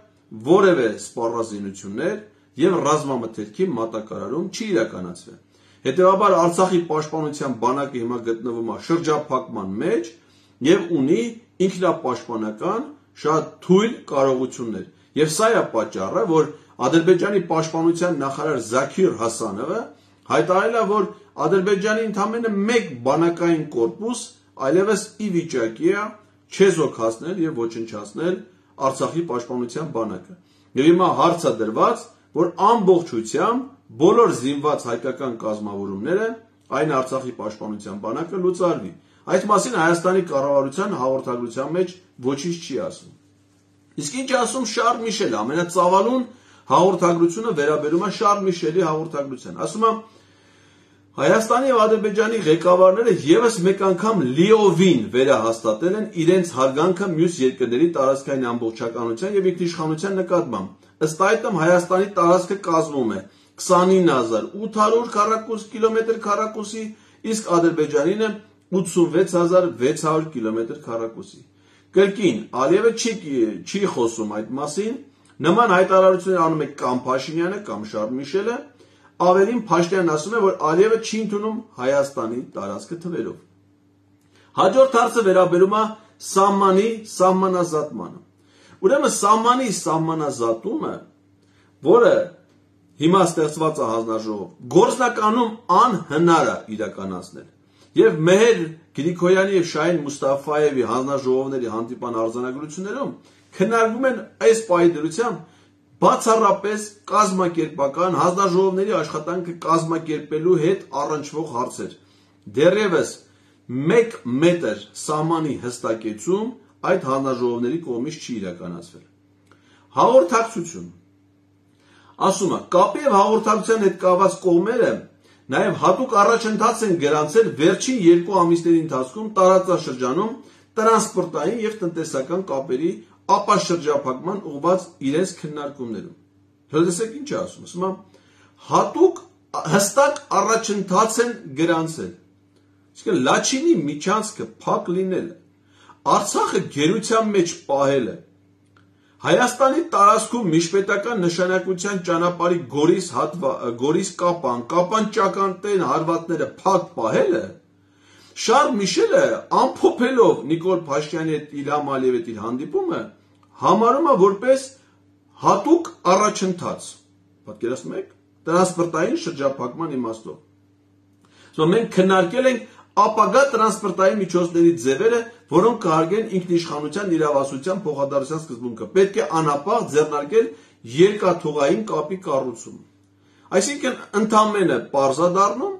որևէ սպառազինություններ եւ ռազմամթերքի մատակարարում չի իրականացվել։ Հետևաբար Արցախի պաշտպանության բանակը հիմա գտնվում է շրջափակման մեջ եւ ունի ինքնապաշտպանական շատ թույլ կարողություններ։ Եվ սա է պատճառը, որ Ադրբեջանի պաշտպանության նախարար Զաքիր Հասանովը հայտարարել է, որ Ադրբեջանի ընդամենը մեկ բանակային կորպուս այլևս ի վիճակի է չեզոքացնել եւ ոչնչացնել Արցախի պաշտպանության բանակը։ Եվ հիմա հարց է դրված, որ ամբողջությամբ բոլոր զինված հայկական կազմավորումները, այն Արցախի պաշտպանության բանակը լուծարվի։ Այդ մասին Հայաստանի կառավարության հաղորդագրության մեջ ոչինչ չի ասում։ Իսկ ինչ ասում Շարլ Միշելը, ամենածավալուն հաղորդագրությունը վերաբերում է Շարլ Միշելի հաղորդագրության։ Ասում է Հայաստանի եւ Ադրբեջանի ղեկավարները եւս մեկ անգամ լիովին վերահաստատել են իրենց հարգանքը մյուս երկրների տարածքային ամբողջականության եւ ինքնիշխանության նկատմամբ։ Ըստ այդմ Հայաստանի տարածքը կազմում է քսանինը հազար ութ հարյուր քառակուսի կիլոմետր քառակուսի, իսկ Ադրբեջանինը ութսունվեց հազար վեց հարյուր կիլոմետր քառակուսի։ Կրկին Ալիևը չի չի խոսում այդ մասին, նման հայտարարություններ անում է կամ Փաշինյանը կամ Շարլ Միշելը, ավելին Փաշինյանն ասում է, որ Ալիևը չի ընդունում Հայաստանի տարածքը թվերով։ Հաջորդ հարցը վերաբերում է սահմանի սահմանազատմանը։ Ուրեմն սահմանի սահմանազատումը, որը հիմա ստեղծված է հանձնաժողով, գործնականում անհնար է իրականացնել։ Եվ Մեհեր Գրիգորյանի եւ Շահին Մուստաֆայևի հանձնաժողովների հանդիպան արձանագրություններում քննարկվում են այս պահի դրությամբ բացառապես կազմակերպական հանձնաժողովների աշխատանքը կազմակերպելու հետ առնչվող հարցեր։ Դեռևս մեկ մետր սահմանի հստակեցում այդ հանձնաժողովների կողմից չի իրականացվել։ Հաղորդակցություն ասում է, կապի եւ հաղորդակցության հետ կապված կողմերը նաև հատուկ առաջընթաց են գրանցել վերջին երկու ամիսների ընթացքում տարածաշրջանում տրանսպորտային եւ տնտեսական կապերի ապաշրջափակման ուղղված իրենց քննարկումներում։ Հրդեսեք ինչ է ասում, ասում է հատուկ հստակ առաջընթաց են գրանցել։ Իսկ Լաչինի միջանցքը փակ լինելը, Արցախը գերության մեջ պահելը, Հայաստանի տարածքում միջպետական նշանակության ճանապարհի Գորիս հատվա Գորիս Կապան, Կապան ճակատային հարվածները փակ պահելը, Շարլ Միշելը ամփոփելով Նիկոլ Փաշինյանի հետ Իլհամ Ալիևի հետ իր հանդիպումը համարում է որպես հատուկ առաջընթաց։ Պատկերացնում եք, տրանսպորտային շրջափակման իմաստով։ Սա մենք քննարկել ենք ապագա տրանսպորտային միջոցների ձևերը, որոնք կհարգեն ինքնիշխանության իրավասության փոխադարձության սկզբունքը։ Պետք է անապահ ձեռնարկել երկաթուղային կապի կառուցում։ Այսինքն ընդամենը պարզա դառնում,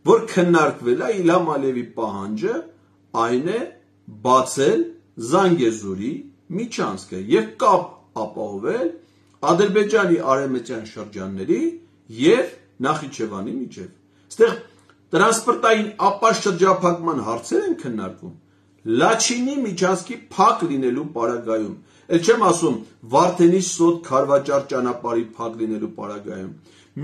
որ քննարկվել է Իլհամ Ալիևի պահանջը, այն է բացել Զանգեզուրի միջանցքը եւ կապ ապահովել Ադրբեջանի արևմտյան շրջանների եւ Նախիջևանի միջեւ։ Այստեղ տրանսպորտային ապաշրջափակման հարցեր են քննարկում Լաչինի միջանցքի փակ լինելու պարագայում, էլ չեմ ասում Վարդենի Սոտ Քարվաճար ճանապարհի փակ լինելու պարագայում,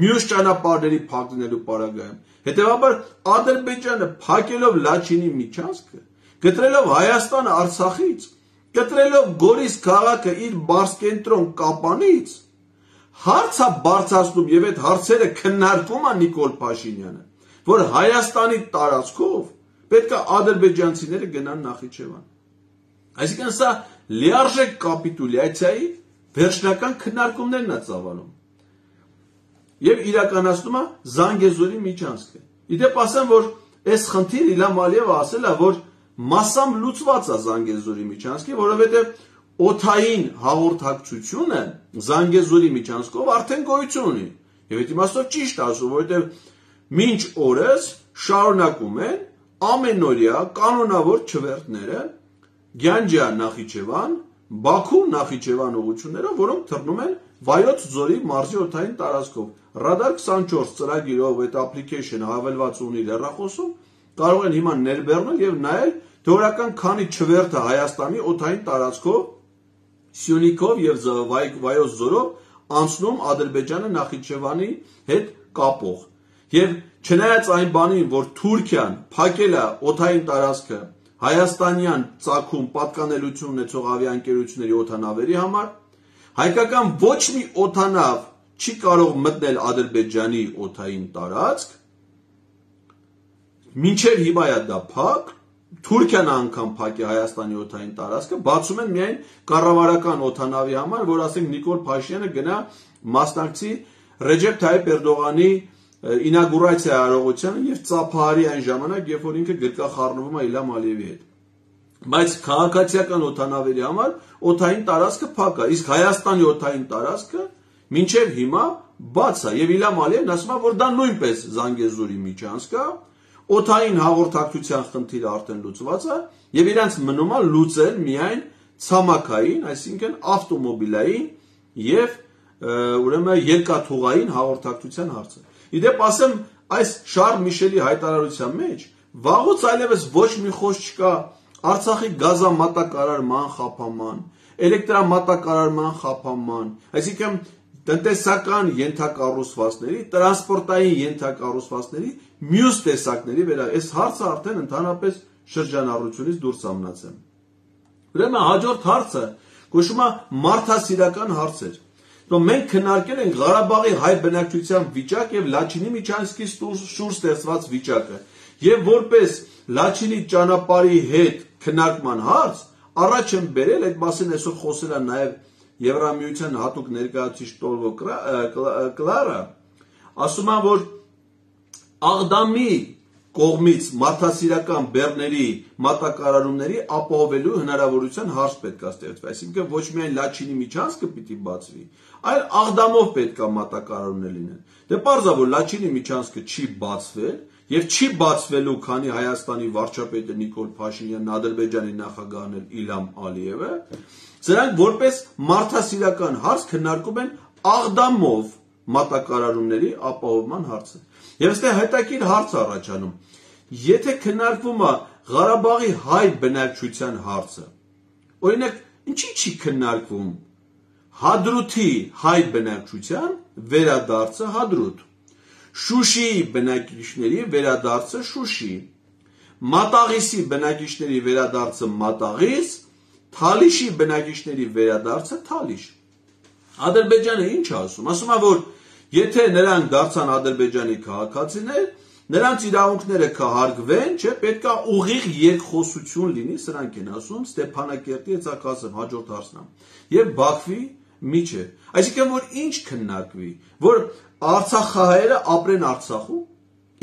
մյուս ճանապարհների փակ լինելու պարագայում։ Հետևաբար Ադրբեջանը փակելով Լաչինի միջանցքը, գտրելով Հայաստանը Արցախից, գտրելով Գորիս քաղաքը իր բարձկենտրոն Կապանից, հարց է բարձրացնում եւ այդ հարցերը քննարկում է Նիկոլ Փաշինյանը, որ Հայաստանի տարածքով պետք է ադրբեջանցիները գնան Նախիջևան։ Այսինքն սա լիարժեք կապիտուլյացիայի վերջնական քննարկումներն է ծավալում եւ իրականացնում է Զանգեզուրի միջանցքը։ Իդեպ ասեմ, որ այս խնդիրը Իլհամ Ալիևը ասել է, որ massam լուծված է Զանգեզուրի միջանցքի, որովհետեւ օթային հաղորդակցությունը Զանգեզուրի միջանցքով արդեն գոյություն ունի։ Եվ այդ իմաստով ճիշտ ասում, որովհետեւ մինչ օրս շարունակում են ամենօրյա կանոնավոր չվերթները Գյանջա Նախիջևան, Բաքու Նախիջևան ուղղություններով, որոնք թռնում են Վայոց ձորի մարզի օթային տարածքով։ Ռադար քսանչորս ծրագիրով այդ application-ը հավելված ունի հեռախոսում, կարող են հիմա ներբեռնել եւ նայել թեորական քանի չվերթը Հայաստանի օթային տարածքով Սյունիքով եւ Վայոց ձորով անցնում Ադրբեջանը Նախիջևանի հետ կապող։ Եվ չնայած այն բանին, որ Թուրքիան փակել է օթային տարածքը հայաստանյան ծագում պատկանելություն ունեցող ավիաընկերությունների օթանավերի համար, հայկական ոչ մի օթանավ չի կարող մտնել Ադրբեջանի օթային տարածք, մինչև հիմա է դա փակ, Թուրքիան անգամ փակ է Հայաստանի օթային տարածքը, բացում են միայն կառավարական օթանավի համար, որ ասենք Նիկոլ Փաշինյանը գնա մասնակցի Ռեջեփ Թայիփ Էրդողանի ինագուրացիա արարողությանը եւ ծափահարի այն ժամանակ, երբ որ ինքը գրկախառնվում է Իլհամ Ալիևի հետ։ Բայց քաղաքացիական օթանավերի համար օթային տարածքը փակ է, իսկ Հայաստանի օթային տարածքը մինչև հիմա բաց է եւ Իլհամ Ալիևն ասում է, որ դա նույնպես Զանգեզուրի միջանցք է, օդային հաղորդակցության խնդիրը արդեն լուծված է եւ իրանց մնում է լուծել միայն ցամաքային, այսինքն ավտոմոբիլային եւ ուրեմն երկաթուղային հաղորդակցության հարցը։ Իդեպ ասեմ, այս Շարլ Միշելի հայտարարության մեջ վաղուց այլևս ոչ մի խոսք չկա Արցախի գազամատակարարման խափանման, էլեկտրամատակարարման խափանման, այսինքն տնտեսական ենթակառուցվածքների, տրանսպորտային ենթակառուցվածքների մյուս տեսակների վրա։ Այս հարցը արդեն ընդհանրապես շրջանառությունից դուրս է մնացել։ Ուրեմն հաջորդ հարցը կոչվում է մարդասիրական հարցեր։ Մենք քննարկել ենք Ղարաբաղի հայ բնակչության վիճակ եւ Լաչինի միջանցքի շուրջ ստեղծված վիճակը եւ որպես Լաչինի ճանապարհի հետ քննարկման հարց առաջ են բերել, այդ մասին այսօր խոսել է նաեւ Եվրամիության հատուկ ներկայացուցիչ Տոլվո Կլարը, ասում է, որ Աղդամի կողմից մարդասիրական բեռների մատակարարումների ապահովելու հնարավորության հարց պետք է ստեղծվի, այսինքն ոչ միայն Լաչինի միջանցքը պիտի բացվի, այլ Աղդամով պետք է մատակարարումներ լինեն։ Դե պարզ է, որ Լաչինի միջանցքը չի բացվել եւ չի բացվելու, քանի Հայաստանի վարչապետը Նիկոլ Փաշինյանն, Ադրբեջանի նախագահն Իլհամ Ալիևը, սրանք որպես մարդասիրական հարց քննարկում են Աղդամով մատակարարումների ապահովման հարցը։ Եվ այստեղ հետաքրքիր հարց առաջանում։ Եթե քննարկվում է Ղարաբաղի հայ բնակչության հարցը, օրինակ, ինչի չի քննարկվում Հադրութի հայ բնակչության վերադարձը Հադրութ, Շուշիի բնակիչների վերադարձը Շուշի, Մատաղիսի բնակիչների վերադարձը Մատաղիս, Թալիշի բնակիչների վերադարձը Թալիշ։ Ադրբեջանը ինչ ասում, ասում է, որ եթե նրանք դարձան Ադրբեջանի քաղաքացիներ, նրանց իրավունքները կհարգվեն, չէ, պետք է ուղիղ երկխոսություն լինի, սրանք են ասում Ստեփանակերտի ցակասը հաջորդ հարցն է, եւ Բաքվի միջև։ Այսինքն որ ինչ քննարկվի, որ Արցախահայերը ապրեն Արցախում,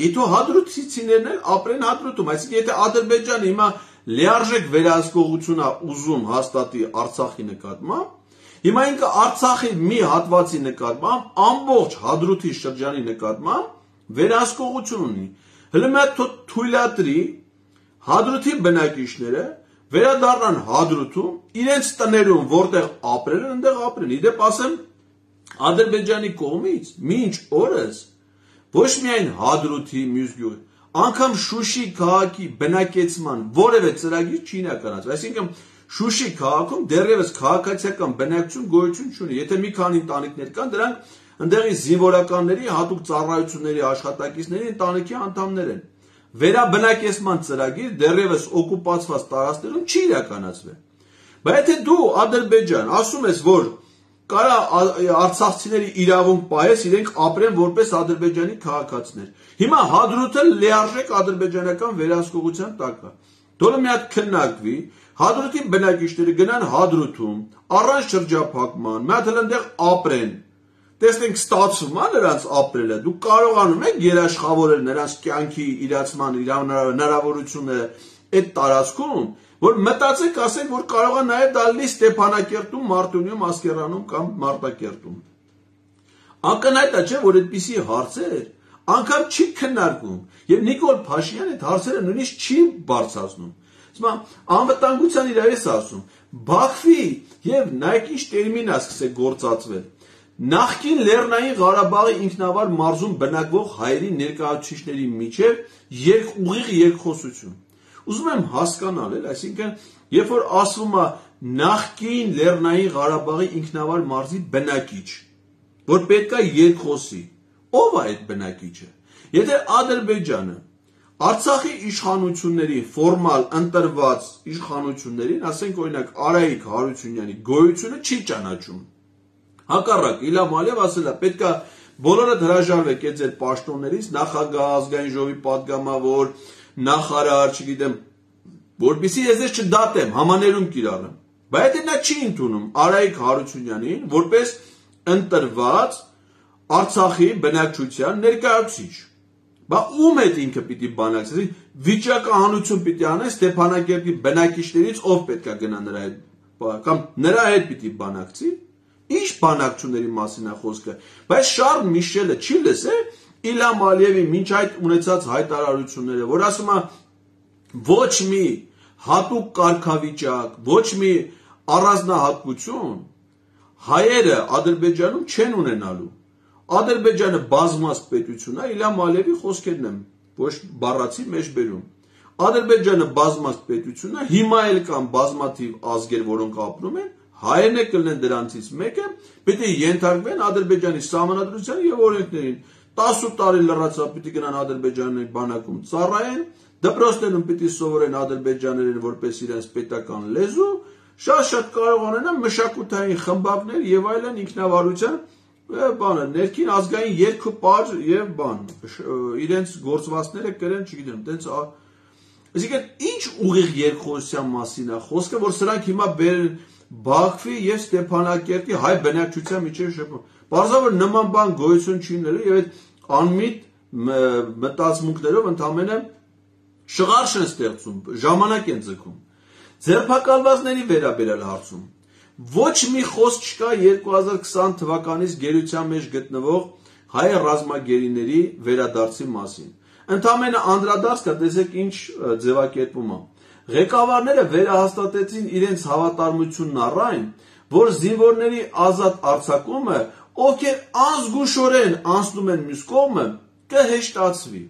Իտո հադրութիցիներն էլ ապրեն Հադրութում, այսինքն եթե Ադրբեջանը հիմա լիարժեք վերահսկողություն է ուզում հաստատի Արցախի նկատմամբ, հիմա ինքը Արցախի մի հատվածի նկատմամբ ամբողջ Հադրութի շրջանի նկատմամբ վերահսկողություն ունի։ Հələ մի հատ թույլատրի Հադրութի բնակիչները վերադառնան Հադրութում, իրենց տներում որտեղ ապրել են, այնտեղ ապրեն։ Իդեպ ասեմ, Ադրբեջանի կողմից մինչ օրս ոչ միայն Հադրութի մյուս գյուղի, անգամ Շուշի քաղաքի բնակեցման որևէ ծրագիր չի իրականացվել։ Այսինքն Շուշի քաղաքում դեռևս քաղաքացիական բնակչություն գոյություն չունի։ Եթե մի քանի ընտանիքներ կան, դրանք ընդեղի զինվորականների, հատուկ ծառայությունների աշխատակիցների ընտանիքի անդամներ են։ Վերաբնակեցման ծրագիր դեռևս օկուպացված տարածքներում չի իրականացվել։ Բայց եթե դու Ադրբեջան ասում ես, որ կարա արցախցիների իրավունք պահես, իրենք ապրեն որպես Ադրբեջանի քաղաքացիներ։ Հիմա Հադրութը լիարժեք ադրբեջանական վերահսկողության տակ է։ Դոլը մի հատ քննարկվի, Հադրութի բնակիչները գնան Հադրութում, առանց շրջափակման, մի հատ այնտեղ ապրեն։ Տեսնենք ստացվում է նրանց ապրելը, դու կարողանում ես երաշխավորել նրանց կյանքի իրացման հնարավորությունները այդ տարածքում, որ մտածեք, ասենք, որ կարող է նաև դա լինի Ստեփանակերտում, Մարտունիում, Ասկերանում կամ Մարտակերտում։ Ակնհայտ է, չէ, որ այդպիսի հարցեր անգամ չի քննարկվում, եւ Նիկոլ Փաշինյանը այդ հարցերը նույնիսկ չի բարձրացնում։ Հիմա անվտանգության իր էս ասում, Բաքվի եւ նայեք ինչ տերմին է սկսել գործածվել։ Նախկին Լեռնային Ղարաբաղի ինքնավար մարզում բնակվող հայերի ներկայացուցիչների միջև երկ ուղիղ երկխոսություն։ Ուզում եմ հասկանալ, էլ, այսինքն, երբ որ ասվում է նախկին Լեռնային Ղարաբաղի ինքնավար մարզի բնակիչ, որ պետք է երկխոսի, ով է այդ բնակիչը։ Եթե Ադրբեջանը Արցախի իշխանությունների ֆորմալ ընտրված իշխանություններին, ասենք օրինակ Արայիկ Հարությունյանի գոյությունը չի ճանաչում։ Հակառակ Իլհամ Ալիևը ասել է, պետք է բոլորդ հրաժարվեք այդ ձեր պաշտոններից, նախագահ, ազգային ժողովի պատգամավոր, նախարար, չգիտեմ, որպեսզի ես ես չդատեմ, համաներում կիրառեմ։ Բայց դա չի ընդունում Արայիկ Հարությունյանին որպես ընտրված Արցախի բնակչության ներկայացուցիչ։ Բա ում հետ ինքը պիտի բանակցի, վիճակահանություն պիտի անեն Ստեփանակերտի բնակիչներից, ով պետք է գնա նրա հետ, կամ նրա հետ պիտի բանակցի։ Ինչ բանակցությունների մասին է խոսքը, բայց Շարլ Միշելը չի լսել Իլհամ Ալիևի մինչ այդ ունեցած հայտարարությունները, որ ասում է ոչ մի հատուկ կարգավիճակ, ոչ մի առանձնահատկություն հայերը Ադրբեջանում չեն ունենալու։ Ադրբեջանը բազմազգ պետություն է, Իլհամ Ալիևի խոսքերն եմ, ոչ բառացի մեջ բերում։ Ադրբեջանը բազմազգ պետություն է, հիմա էլ կան բազմաթիվ ազգեր, որոնք ապրում են, հայերն է կլինեն դրանցից մեկը, պետք է ենթարկվեն Ադրբեջանի սահմանադրության եւ օրենքներին։ տասը տարի լրացավ պիտի գնան Ադրբեջանի բանակում ծառայեն, դպրոցներում պիտի սովորեն ադրբեջաներեն որպես իրենց պետական լեզու, շատ-շատ կարող ունենան մշակութային խմբակներ եւ այլն ինքնավարության բանը, ներքին ազգային երգ ու պար եւ բան, իրենց գործվածները կրեն, չգիտեմ, տենց այսինքն ինչ ուղիղ երկխոսության մասին է խոսքը, որ սրանք հիմա բերեն Բաքվի եւ Ստեփանակերտի հայ բնակչության միջև շփում։ Պարզաբար նման բան գոյություն չի ունելու եւ այդ անմիտ մտածմունքներով ընդամենը շղարշ են ստեղծում, ժամանակ են ձգում։ Ձերբակալվածների վերաբերյալ հարցում ոչ մի խոսք չկա երկու հազար քսան թվականից գերության մեջ գտնվող հայ ռազմագերիների վերադարձի մասին։ Ընդամենը անդրադարձ կա, տեսեք ինչ ձևակերպում է։ Ղեկավարները վերահաստատեցին իրենց հավատարմությունն առայն, որ զինվորների ազատ արձակումը, ովքեր անզգուշորեն անցնում են մյուս կողմը, կհեշտացվի։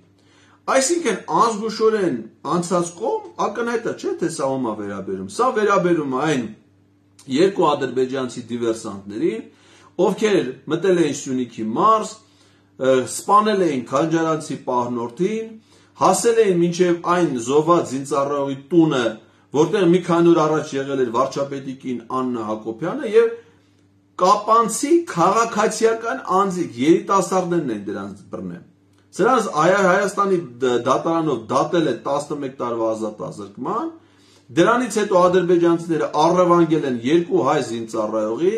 Այսինքն անզգուշորեն անցած կողմ ակնհայտ է, չէ՞ թե սա ում է վերաբերում։ Սա վերաբերում է այն երկու ադրբեջանցի դիվերսանտներին, ովքեր մտել էին Սյունիքի մարզ, սպանել էին Քանջարանցի պահնորդին, հասել էին մինչև այն զոհված զինծառայողի տունը, որտեղ մի քանի օր առաջ եղել էր վարչապետի կին Աննա Հակոբյանը եւ կապանցի քաղաքացիական անձիկ երիտասարդներն են դրանց բռնել։ Սրանց Հայաստանի դատարանով դատել է տասնմեկ տարվա ազատազրկման, դրանից հետո ադրբեջանցիները առևանգել են երկու հայ զինծառայողի,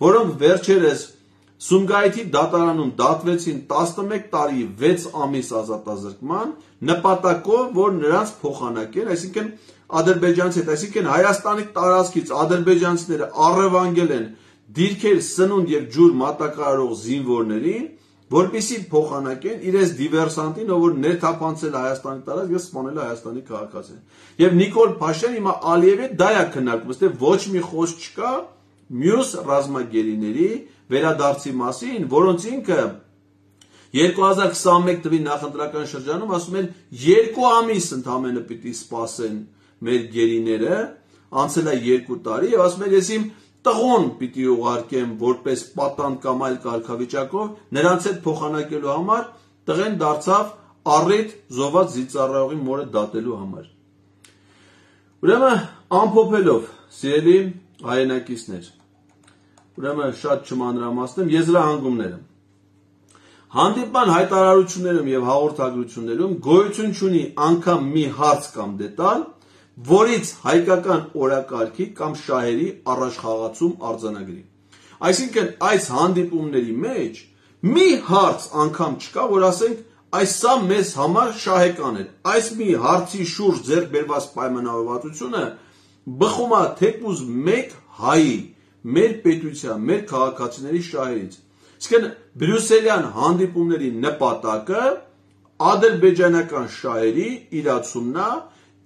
որոնք վերջերս Սումգայիթի դատարանում դատվեցին տասնմեկ տարի վեց ամիս ազատազրկման, նպատակով, որ նրանց փոխանակեն, այսինքն ադրբեջանցի հետ, այսինքն Հայաստանի տարածքից ադրբեջանցիները առևանգել են դիրքեր, սնունդ եւ ջուր մատակարարող զինվորներին, որպեսզի փոխանակեն իրենց դիվերսանտին, ով որ ներթափանցել է Հայաստանի տարածք եւ սպանել է Հայաստանի քաղաքացին։ Եվ Նիկոլ Փաշինյանը հիմա Ալիևի դա է քննարկում, ըստ ոչ մի խոսք չկա մյուս ռազմագերիների վերադարձի մասին, որոնց ինքը երկու հազար քսանմեկ թվականի նախընտրական շրջանում ասում են երկու ամիս ընդամենը պիտի սպասեն մեր գերիները, անցել է երկու տարի եւ ասում են ես իմ տղոն պիտի ուղարկեմ որպես պատանդ կամ այլ կարգավիճակով նրանց հետ փոխանակելու համար, տղեն դարձավ առիթ զոհված զինծառայողի մորը դատելու համար։ Ուրեմն ամփոփելով, սիրելի հայրենակիցներ, ուրեմն շատ չմանրամասնեմ եզրահանգումները։ Հանդիպման հայտարարություններում եւ հաղորդագրություններում գոյություն չունի անգամ մի հարց կամ դետալ, որից հայկական օրակարգի կամ շահերի առաջխաղացում արձանագրի։ Այսինքն այս հանդիպումների մեջ մի հարց անգամ չկա, որ ասենք այս սա մեզ համար շահեկան էր։ Այս մի հարցի շուրջ ձեռք բերված պայմանավորվածությունը բխում է թեկուզ մեկ հայի, մեր պետության, մեր քաղաքացիների շահերից։ Իսկն բրյուսելյան հանդիպումների նպատակը ադրբեջանական շահերի իրացումն է,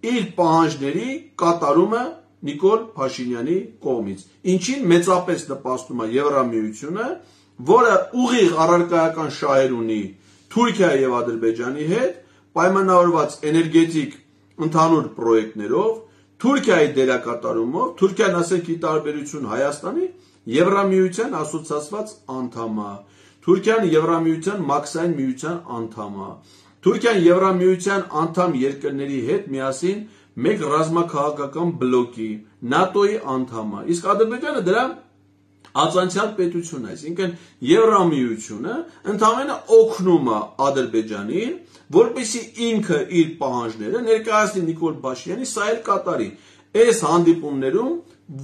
իր պահանջների կատարումը Նիկոլ Փաշինյանի կողմից, ինչին մեծապես նպաստում է Եվրամիությունը, որը ուղիղ առարկայական շահեր ունի Թուրքիայի եւ Ադրբեջանի հետ, պայմանավորված էներգետիկ ընդհանուր պրոյեկտներով, Թուրքիայի դերակատարումով, Թուրքիան ասենք ի տարբերություն Հայաստանի Եվրամիության ասոցիացված անդամ է, Թուրքիան Եվրամիության մաքսային միության անդամ է, Թուրքիան Եվրամիության անդամ երկրների հետ միասին մեկ ռազմաքաղաքական բլոկի, նատոյի անդամ է, իսկ Ադրբեջանը դրա ածանցյալ պետություն է, այսինքն Եվրամիությունը ընդամենը օգնում է Ադրբեջանին, որպեսզի ինքը իր պահանջները ներկայացնի Նիկոլ Փաշինյանի, սա էլ կատարի։ Այս հանդիպումներում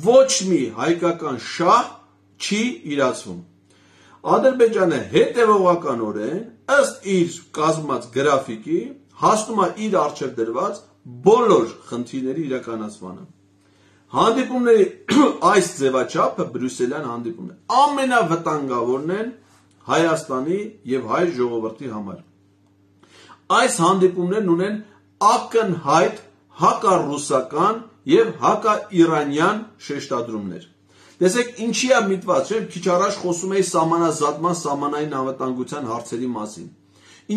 ոչ մի հայկական շահ չի իրացվում։ Ադրբեջանը հետևողականորեն ըստ իր կազմած գրաֆիկի հասնում է իր առջև դրված բոլոր խնդիրների իրականացմանը։ Հանդիպումների այս ձևաչափը բրյուսելյան հանդիպումն է։ Ամենավտանգավորն են Հայաստանի եւ հայ ժողովրդի համար։ Այս հանդիպումներն ունեն ակնհայտ հակառուսական եւ հակաիրանյան շեշտադրումներ։ Տեսեք, ինչի է միտված, չէ՞, քիչ առաջ խոսում էի սահմանազատման, սահմանային անվտանգության հարցերի մասին։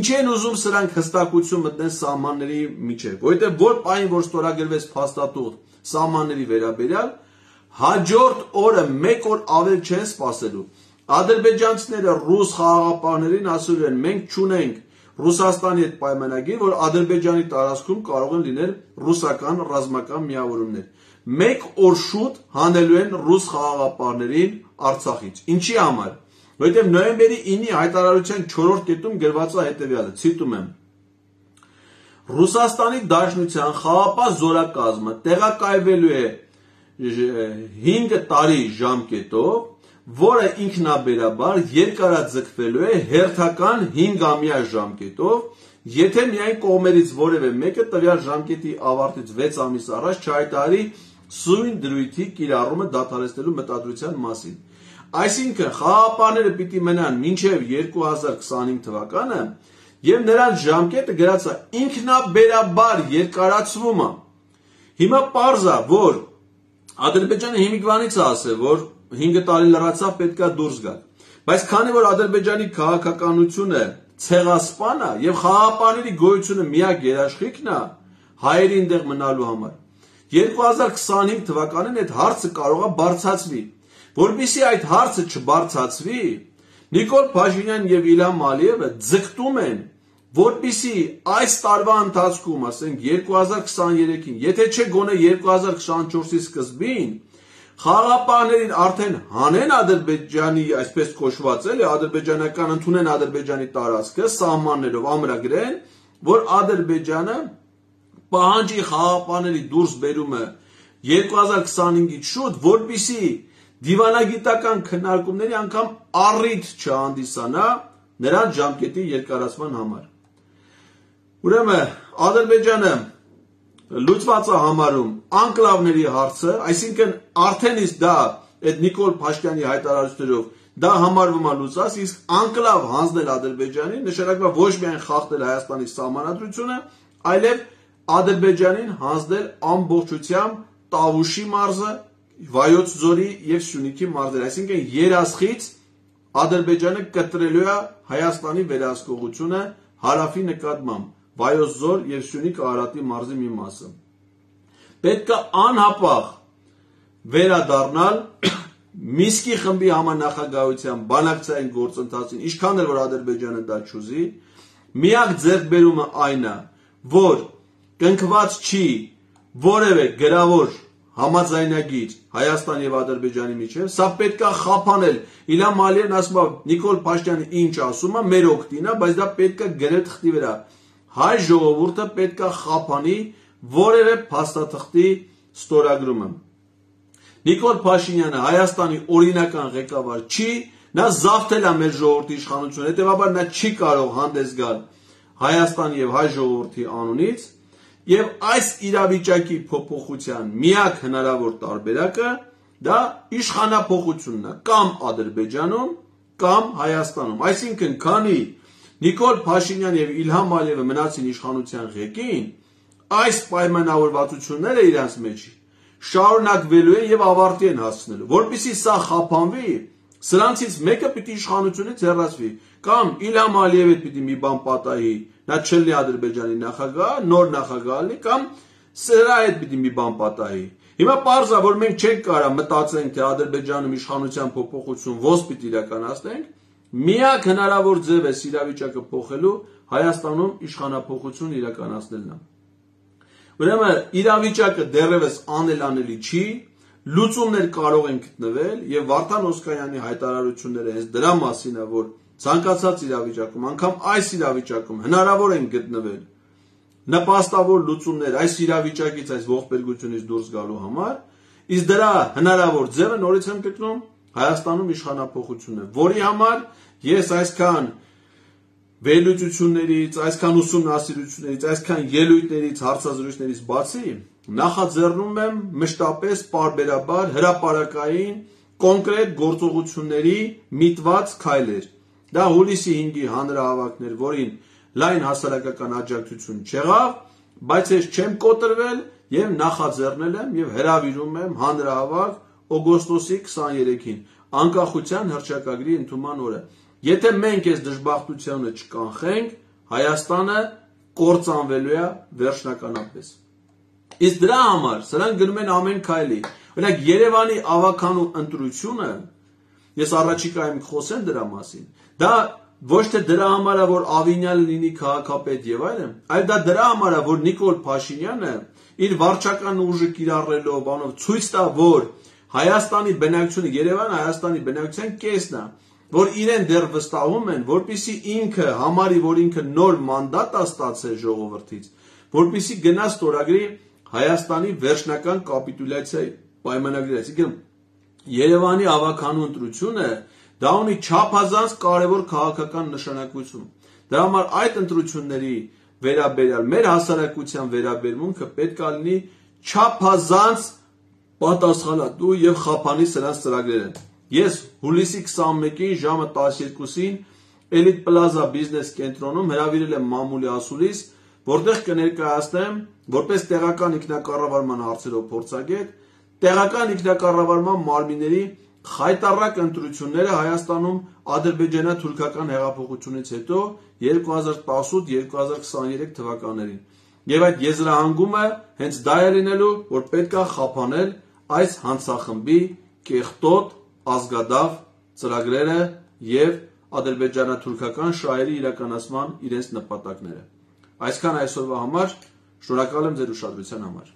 Ինչի են ուզում սրանք հստակություն մտնեն սահմանների միջև, որովհետեւ որ պայն որ ստորագրվեց փաստաթուղթ սահմանների վերաբերյալ, հաջորդ օրը մեկ օր ավել չեն սպասելու։ Ադրբեջանցիները ռուս խաղաղապահներին ասում են, մենք չունենք Ռուսաստանի հետ պայմանագիր, որ Ադրբեջանի տարածքում կարող են լինել ռուսական ռազմական միավորումներ։ Մեկ օր շուտ հանելու են ռուս խաղաղապահներին Արցախից։ Ինչի համար։ Որովհետև նոյեմբերի ինի հայտարարության չորրորդ կետում գրված է հետևյալը, ցիտում եմ. Ռուսաստանի Դաշնության խաղաղապահ զորակազմը տեղակայվելու է հինգ տարի ժամկետով, որը ինքնաբերաբար երկարաձգվելու է հերթական հինգամյա ժամկետով, եթե միայն կողմերից որևէ մեկը տվյալ ժամկետի ավարտից վեց ամիս առաջ չհայտարարի սույն դրույթի կիրառումը դադարեցնելու մտադրության մասին։ Այսինքն խաղաղապահները պիտի մնան մինչև երկու հազար քսանհինգ թվականը եւ նրանց ժամկետը գրած է ինքնաբերաբար երկարացվում է։ Հիմա պարզ է, որ Ադրբեջանը հիմիկվանից է ասել, որ հինգ տարի լրացավ պետքա դուրս գալ։ Բայց քանի որ Ադրբեջանի քաղաքականությունը ցեղասպան է եւ խաղաղապահների գոյությունը միակ երաշխիքն է հայերի այնտեղ մնալու համար, երկու հազար քսանհինգ թվականին այդ հարցը կարող է բարձրացվի։ Որպեսզի այդ հարցը չբարձրացվի, Նիկոլ Փաշինյանն եւ Իլհամ Ալիևը ձգտում են, որպեսզի այս տարվա ընթացքում, ասենք երկու հազար քսաներեքին, եթե չէ գոնե երկու հազար քսանչորսի սկզբին, խաղաղապահներին արդեն հանեն Ադրբեջանի, այսպես կոչված էլի, ադրբեջանական ընդունեն Ադրբեջանի տարածքը սահմաններով ամրագրեն, որ Ադրբեջանը պահանջի խաղաղապահների դուրս բերումը երկու հազար քսանհինգից շուտ, որպեսզի դիվանագիտական քննարկումների անգամ առիթ չհանդիսանա նրանց ժամկետի երկարացման համար։ Ուրեմն Ադրբեջանը լուծված է համարում անկլավների հարցը, այսինքն արդեն իսկ դա այդ Նիկոլ Փաշինյանի հայտարարություններով դա համարվում է լուծած, իսկ անկլավ հանձնել Ադրբեջանին նշանակում է ոչ միայն խախտել Հայաստանի սահմանադրությունը, այլև Ադրբեջանին հանձնել ամբողջությամբ Տավուշի մարզը, Վայոց ձորի եւ Սյունիքի մարզերը, այսինքն երասխից Ադրբեջանը կտրելու է Հայաստանի վերահսկողությունը հարավի նկատմամբ, Վայոց ձոր եւ Սյունիք Արարատի մարզի մի մասը։ Պետք է անհապաղ վերադառնալ Միսկի խմբի համանախագահության բանակցային գործընթացին, ինչքան էլ որ Ադրբեջանը դա չուզի, միակ ձեռքբերումը այն է, որ կնքված չի որևէ գրավոր համաձայնագիր Հայաստան եւ Ադրբեջանի միջեւ, սա պետք է խափանել։ Իլհամ Ալիևն ասում է, Նիկոլ Փաշինյանը ինչ ասում է, մեր օգտին է, բայց դա պետք է գրել թղթի վրա։ Հայ ժողովուրդը պետք է խափանի որևէ փաստաթղթի ստորագրումը։ Նիկոլ Փաշինյանը Հայաստանի օրինական ղեկավար չի, նա զավթել է մեր ժողովրդի իշխանությունը, հետեւաբար նա չի կարող հանդես գալ Հայաստանի եւ հայ ժողովրդի անունից, եւ այս իրավիճակի փոփոխության միակ հնարավոր տարբերակը դա իշխանափոխությունն է, կամ Ադրբեջանում, կամ Հայաստանում։ Այսինքն, քանի Նիկոլ Փաշինյան եւ Իլհամ Ալիևը մնացին իշխանության ղեկին, այս պայմանավորվածությունները իրենց մեջ շարունակվելու են եւ ավարտի են հասցնելու։ Որպեսզի սա խափանվի, սրանցից մեկը պիտի իշխանությունից հեռացվի, կամ Իլհամ Ալիևը պիտի մի բան պատահի, նա չլինի Ադրբեջանի նախագահ, նոր նախագահ լինի, կամ սրա հետ պիտի մի բան պատահի։ Հիմա պարզ է, որ մենք չենք կարող մտածենք, թե Ադրբեջանում իշխանության փոփոխություն ոնց պիտի իրականացնենք, միակ հնարավոր ձև է իրավիճակը փոխելու Հայաստանում իշխանափոխություն իրականացնելն է։ Ուրեմն իրավիճակը դեռևս անելանելի չի, լուծումներ կարող են գտնվել եւ Վարդան Օսկանյանի հայտարարությունները հենց դրա մասին է, որ ցանկացած իրավիճակում, անգամ այս իրավիճակում հնարավոր են գտնվել նպաստավոր լուծումներ այս իրավիճակից, այս ողբերգությունից դուրս գալու համար, իսկ դրա հնարավոր ձևը նորից եմ գտնում Հայաստանում իշխանափոխությունն է, որի համար ես այսքան վերլուծություններից, այսքան ուսումնասիրություններից, այսքան ելույթներից, հարցազրույցներից բացի նախաձեռնում եմ մշտապես պարբերաբար հրապարակային կոնկրետ գործողությունների միտված քայլեր։ Դա հուլիսի հինգի հանրահավաքն էր, որին լայն հասարակական աջակցություն չեղավ, բայց ես չեմ կոտրվել եւ նախաձեռնել եմ եւ հրավիրում եմ հանրահավաք օգոստոսի քսաներեքին, անկախության հռչակագրի ընդունման օրը։ Եթե մենք այս դժբախտությունը չկանխենք, Հայաստանը կործանվելու է վերջնականապես։ Իսկ դրա համար սրանք գնում են ամեն քայլի։ Օրինակ Երևանի ավականու ընտրությունը, ես առաջիկայում խոսեմ դրա մասին, դա ոչ թե դրա համար է, որ Ավինյանը լինի քաղաքապետ եւ այլն, այլ դա դրա համար է, որ Նիկոլ Փաշինյանը իր վարչական ուժը կիրառելով, բանով ցույց տա, որ Հայաստանի բնակչությունը, Երևանը Հայաստանի բնակչության կեսն է, որ իրեն դեռ վստահում են, որպեսզի ինքը համարի, որ ինքը նոր մանդատ է ստացել ժողովրդից, որպեսզի գնա ստորագրի Հայաստանի վերջնական կապիտուլյացիայի պայմանագրից։ Եկեք Երևանի ավականու ընտրությունը դա ունի չափազանց կարևոր քաղաքական նշանակություն։ Դրա համար այդ ընտրությունների վերաբերյալ մեր հասարակության վերաբերմունքը պետք է լինի չափազանց պատասխանատու եւ խափանի սրանց ծրագրերը։ Ես հուլիսի քսաներեքին ժամը տասներկուսին Elite Plaza Business կենտրոնում հրավիրել եմ մամուլի ասուլիս, որտեղ կներկայացնեմ որպես տեղական ինքնակառավարման հարցերով փորձագետ, տեղական ինքնակառավարման մարմինների խայտառակ ընտրությունները Հայաստանում ադրբեջանա-թուրքական հեղափոխությունից հետո երկու հազար տասութ երկու հազար քսաներեք թվականներին։ Եվ այդ եզրահանգումը հենց դա է լինելու, որ պետք է խափանել այս հանցախմբի կեղտոտ ազգադավ ծրագրերը եւ ադրբեջանա-թուրքական շահերի իրականացման իրենց նպատակները։ Այսքան այսօրվա համար, շնորհակալ եմ ձեր ուշադրության համար։